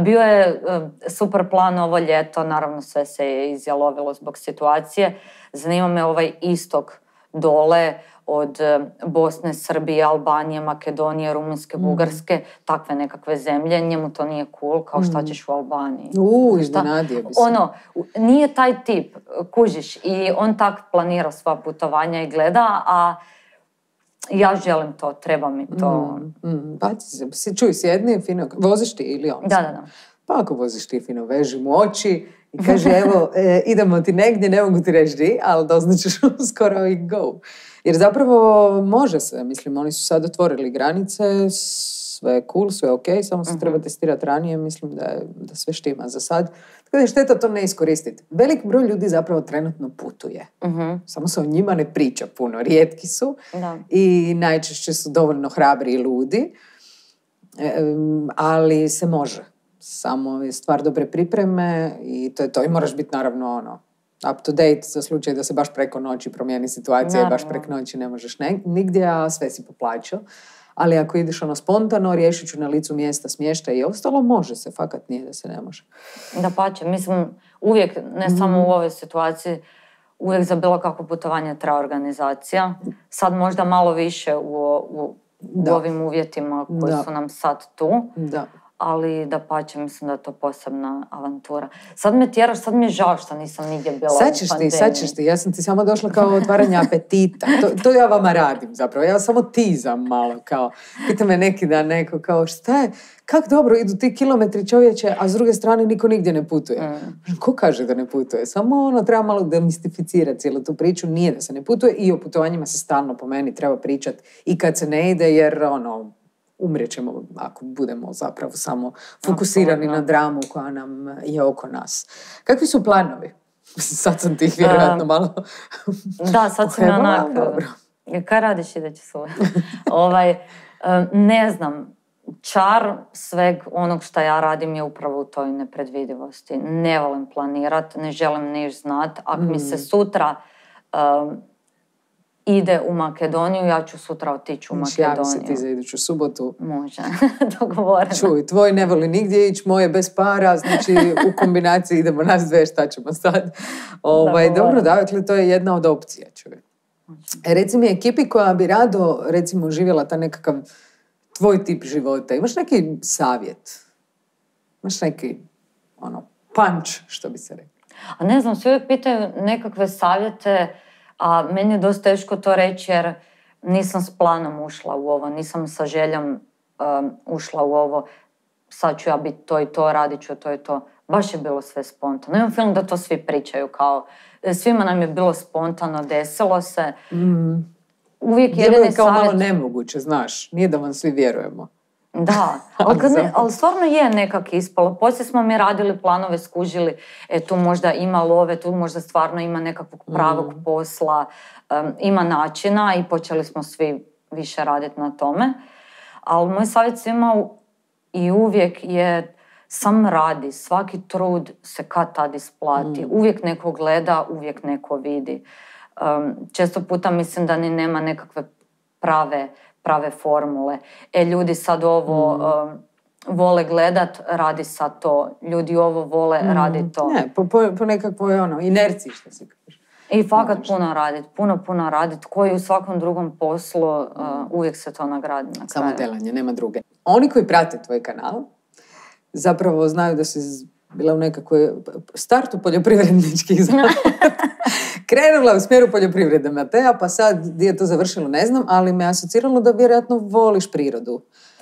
Bio je super plan ovo ljeto, naravno sve se je izjalovilo zbog situacije. Zanima me ovaj istok dole od Bosne, Srbije, Albanije, Makedonije, Rumunjske, Bugarske, takve nekakve zemlje. Njemu to nije cool, kao šta ćeš u Albaniji. Iznenadio bi se. Nije taj tip, kužiš, i on tak planira sva putovanja i gleda, a ja želim to, treba mi to. Čuj, sjedni, fino, voziš ti ili on? Da. Pa ako voziš ti fino, veži mu oči I kaže, evo, idemo ti negdje, ne mogu ti reći di, ali doznaćeš skoro i go. Jer zapravo može se, mislim, oni su sad otvorili granice, sve je cool, sve je ok, samo se treba testirati ranije, mislim da sve štima za sad. Tako da je šteta to ne iskoristiti. Velik broj ljudi zapravo trenutno putuje. Samo se o njima ne priča puno, rijetki su i najčešće su dovoljno hrabri i ludi, ali se može. Samo je stvar dobre pripreme i to je to. I moraš biti naravno up to date za slučaj da se baš preko noći promijeni situacija i baš preko noći ne možeš nigdje, a sve si poplaćao. Ali ako ideš spontano, riješit ću na licu mjesta smještaj i ostalo, može se, fakat nije da se ne može. Dapače, mislim, uvijek, ne samo u ovoj situaciji, uvijek za bilo kakvo putovanje treba organizacija. Sad možda malo više u ovim uvjetima koji su nam sad tu. Da. Ali dapače, mislim da je to posebna avantura. Sad me tjeraš, sad mi je žao što nisam nigdje bila u pandemiji. Sad ćeš ti, ja sam ti samo došla kao otvaranje apetita. To ja vama radim zapravo, ja samo tizam malo kao. Pita me neki dan neko kao šta je, kak dobro idu ti kilometri čovječe, a s druge strane niko nigdje ne putuje. Ko kaže da ne putuje? Samo treba malo demistificirati cijelu tu priču, nije da se ne putuje i o putovanjima se stalno po meni treba pričati i kad se ne ide jer umrijet ćemo ako budemo zapravo samo fokusirani na dramu koja nam je oko nas. Kakvi su planovi? Sad sam ti vjerojatno malo... Da, sad sam onak... Kaj radiš iduće suve? Ne znam. Čar sveg onog što ja radim je upravo u toj nepredvidivosti. Ne volim planirat, ne želim niš znat. Ako mi se sutra... ide u Makedoniju, ja ću sutra otići u Makedoniju. Javi se ti za iduću subotu. Može, dogovoreno. Čuj, tvoj ne voli nigdje ići, moje bez para, znači u kombinaciji idemo nas dve, šta ćemo sad. Dobro, dakle, to je jedna od opcija, čuj. Reci mi, ekipi koja bi rado, recimo, živjela ta nekakav tvoj tip života, imaš neki savjet? Imaš neki, punch, što bi se rekli? A ne znam, svi uvijek pitaju nekakve savjete, a meni je dosta teško to reći jer nisam s planom ušla u ovo, nisam sa željom ušla u ovo, sad ću ja biti to i to, radit ću to i to. Baš je bilo sve spontano. Imam film da to svi pričaju kao, svima nam je bilo spontano, desilo se. Uvijek jedini savjet... kao malo nemoguće, znaš, nije da vam svi vjerujemo. Da, ali stvarno je nekak ispalo. Poslije smo mi radili planove, skužili, tu možda ima love, tu možda stvarno ima nekakvog pravog posla, ima načina i počeli smo svi više raditi na tome. Ali moj savjet svima i uvijek je sam radi, svaki trud se kad tad isplati. Uvijek neko gleda, uvijek neko vidi. Često puta mislim da ni nema nekakve prave formule. Ljudi sad ovo vole gledat, radi sad to. Ljudi ovo vole, radi to. Ne, po nekakvoj inerciji, što se kaže. I fakat puno radit. Koji u svakom drugom poslu uvijek se to nagradi na kraju. Samo delanje, nema druge. Oni koji prate tvoj kanal zapravo znaju da si bila u nekakvoj startu poljoprivredničkih krenula u smjeru poljoprivrede Matea, pa sad gdje je to završilo ne znam, ali me asociralo da vjerojatno voliš prirodu.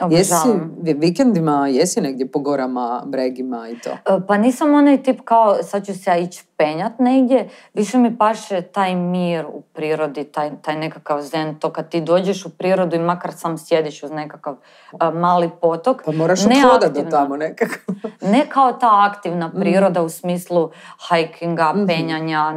Jesi vikendima, jesi negdje po gorama, bregima i to? Pa nisam onaj tip kao sad ću se ja ići penjat negdje, više mi paše taj mir u prirodi, taj nekakav zen, to kad ti dođeš u prirodu i makar sam sjediš uz nekakav mali potok. Pa moraš odhodat do tamo nekako. Ne kao ta aktivna priroda u smislu hikinga, penjanja,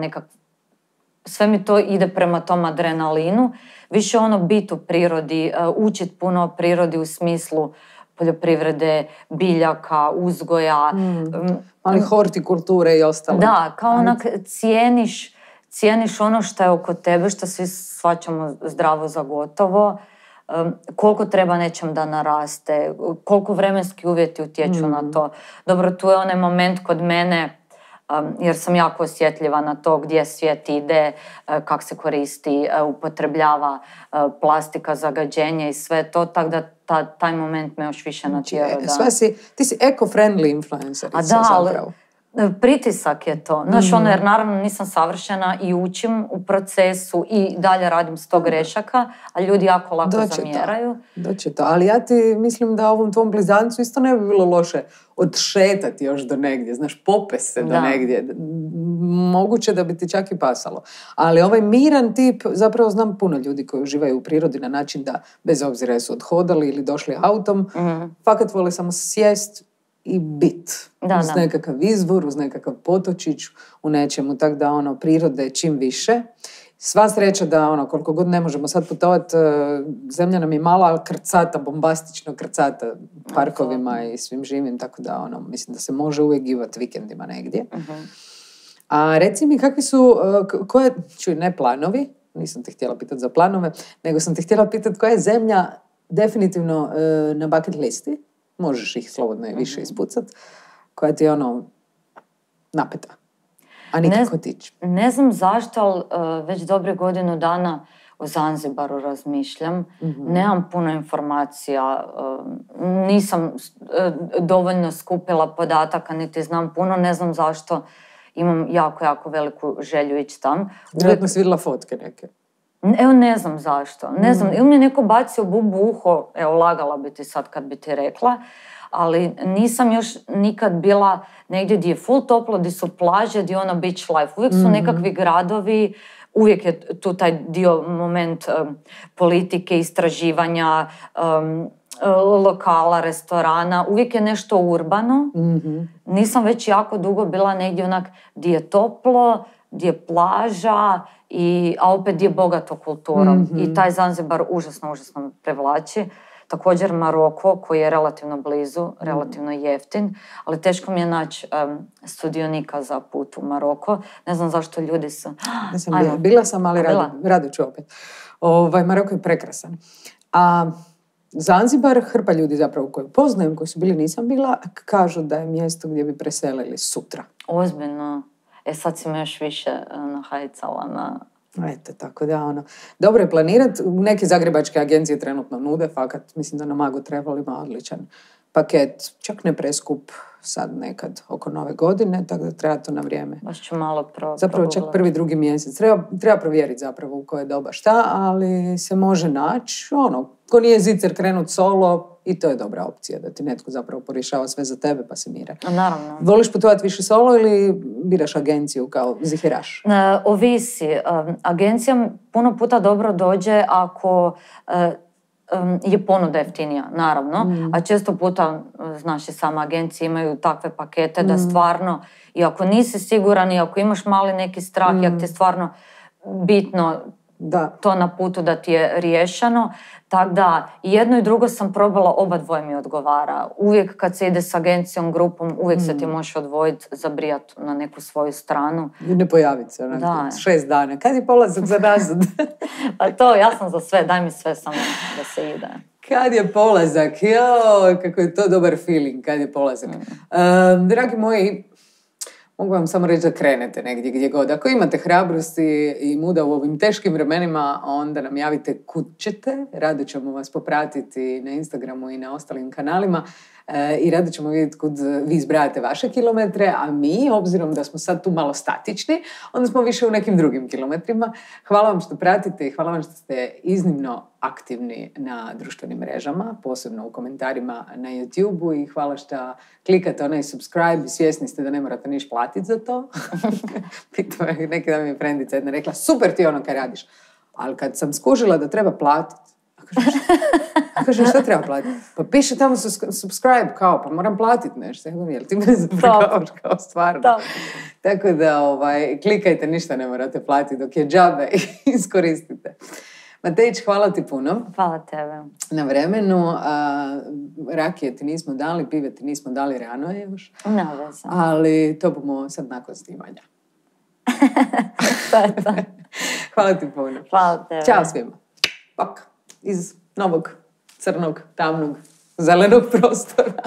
sve mi to ide prema tom adrenalinu. Više biti u prirodi, učiti puno o prirodi u smislu poljoprivrede, biljaka, uzgoja. Ali hortikulture i ostalo. Da, kao onak cijeniš ono što je oko tebe, što svi shvaćamo zdravo za gotovo, koliko treba nečem da naraste, koliko vremenski uvjeti utječu na to. Dobro, tu je onaj moment kod mene, jer sam jako osjetljiva na to gdje svijet ide, kako se koristi, upotrebljava plastika, zagađenje i sve to, tako da taj moment me još više natjerao. Ti si eco-friendly influencer zapravo. Pritisak je to. Znaš, ono, jer naravno nisam savršena i učim u procesu i dalje radim 100 grešaka, a ljudi jako lako zamjeraju. Doće to. Ali ja ti mislim da ovom tvom blizancu isto ne bi bilo loše odšetati još do negdje, znaš, popest se do negdje. Moguće da bi ti čak i pasalo. Ali ovaj miran tip, zapravo znam puno ljudi koji uživaju u prirodi na način da, bez obzira jesu odhodali ili došli autom, fakat vole samo sjest i bit. Uz nekakav izvor, uz nekakav potočić, u nečemu. Tako da, ono, prirode čim više. Sva sreća da, ono, koliko god ne možemo sad putovati, zemlja nam je mala, ali krcata, bombastično krcata parkovima i svim živim, tako da, ono, mislim da se može uvijek givati vikendima negdje. A reci mi, kakvi su, ne planovi, nisam te htjela pitati za planove, nego sam te htjela pitati koja je zemlja definitivno na bucket listi, možeš ih slobodno i više ispucat, koja ti je ono napeta, a nikako tići. Ne znam zašto, ali već dobre godinu dana o Zanzibaru razmišljam. Nemam puno informacija, nisam dovoljno skupila podataka, niti znam puno, ne znam zašto. Imam jako, jako veliku želju ići tam. Vjerojatno si vidjela fotke neke. Evo, ne znam zašto. Ne znam, ili mi je neko bacio bubu u uho, evo, lagala bi ti sad kad bi ti rekla, ali nisam još nikad bila negdje gdje je full toplo, gdje su plaže, gdje je ono beach life. Uvijek su nekakvi gradovi, uvijek je tu taj dio moment politike, istraživanja, lokala, restorana, uvijek je nešto urbano. Nisam već jako dugo bila negdje onak gdje je toplo, gdje je plaža, a opet gdje je bogato kulturom. I taj Zanzibar užasno me privlači. Također Maroko, koji je relativno blizu, relativno jeftin, ali teško mi je naći sudionika za put u Maroko. Ne znam zašto ljudi su... Bila sam, ali rado ću opet. Maroko je prekrasan. A Zanzibar, hrpa ljudi zapravo koju poznajem, koji su bili, nisam bila, kažu da je mjesto gdje bi preselili sutra. Ozbiljno. Sad si me još više nahajcala na... Eto, tako da, ono, dobro je planirati. Neke zagrebačke agencije trenutno nude, fakat, mislim da na Magu trebali ima odličan paket, čak ne preskup sad nekad oko nove godine, tako da treba to na vrijeme. Baš ću malo zapravo čak prvi, drugi mjesec. Treba provjeriti zapravo u koje doba šta, ali se može naći, ono, ko nije zicer krenut solo, i to je dobra opcija, da ti netko zapravo porješava sve za tebe pa se mire. Naravno. Voliš putovati više solo ili biraš agenciju kao ziheraš? Ovisi. Agencija puno puta dobro dođe ako je ponuda jeftinija, naravno. A često puta, znaš, i sama agencije imaju takve pakete da stvarno, i ako nisi siguran, i ako imaš mali neki strah, i ako ti je stvarno bitno to na putu da ti je riješeno. Tako da, jedno i drugo sam probala, oba dvoje mi odgovara. Uvijek kad se ide s agencijom, grupom, uvijek se ti možeš odvojiti, zabrijati na neku svoju stranu. I ne pojaviti se, 6 dana. Kad je polazak za nazad? Pa to, ja sam za sve, daj mi sve samo da se ide. Kad je polazak? Joj, kako je to dobar feeling, kad je polazak. Dragi moji, mogu vam samo reći da krenete negdje gdje god. Ako imate hrabrosti i muda u ovim teškim vremenima, onda nam javite kud ćete. Rado ćemo vas popratiti na Instagramu i na ostalim kanalima i rado ćemo vidjeti kud vi izbrajate vaše kilometre, a mi, obzirom da smo sad tu malo statični, onda smo više u nekim drugim kilometrima. Hvala vam što pratite i hvala vam što ste iznimno aktivni na društvenim mrežama, posebno u komentarima na YouTube-u, i hvala što klikate onaj subscribe, svjesni ste da ne morate niš platiti za to. Pitao je, neki dan mi je frendica jedna rekla, super ti ono kad radiš, ali kad sam skužila da treba platiti, a kaže, šta treba platiti? Pa piše tamo subscribe, kao, pa moram platiti nešto. Jel ti me zaprkavaš kao stvarno? Tako da, klikajte, ništa ne morate platiti dok je džabe, iskoristite. Matejić, hvala ti puno. Hvala tebe. Na vremenu. Rakije ti nismo dali, pive ti nismo dali, rano je još. Ne veze. Ali to bomo sad nakon snimanja. To. Hvala ti puno. Hvala tebe. Ćao svima. Pak. Iz novog, crnog, tamnog, zelenog prostora.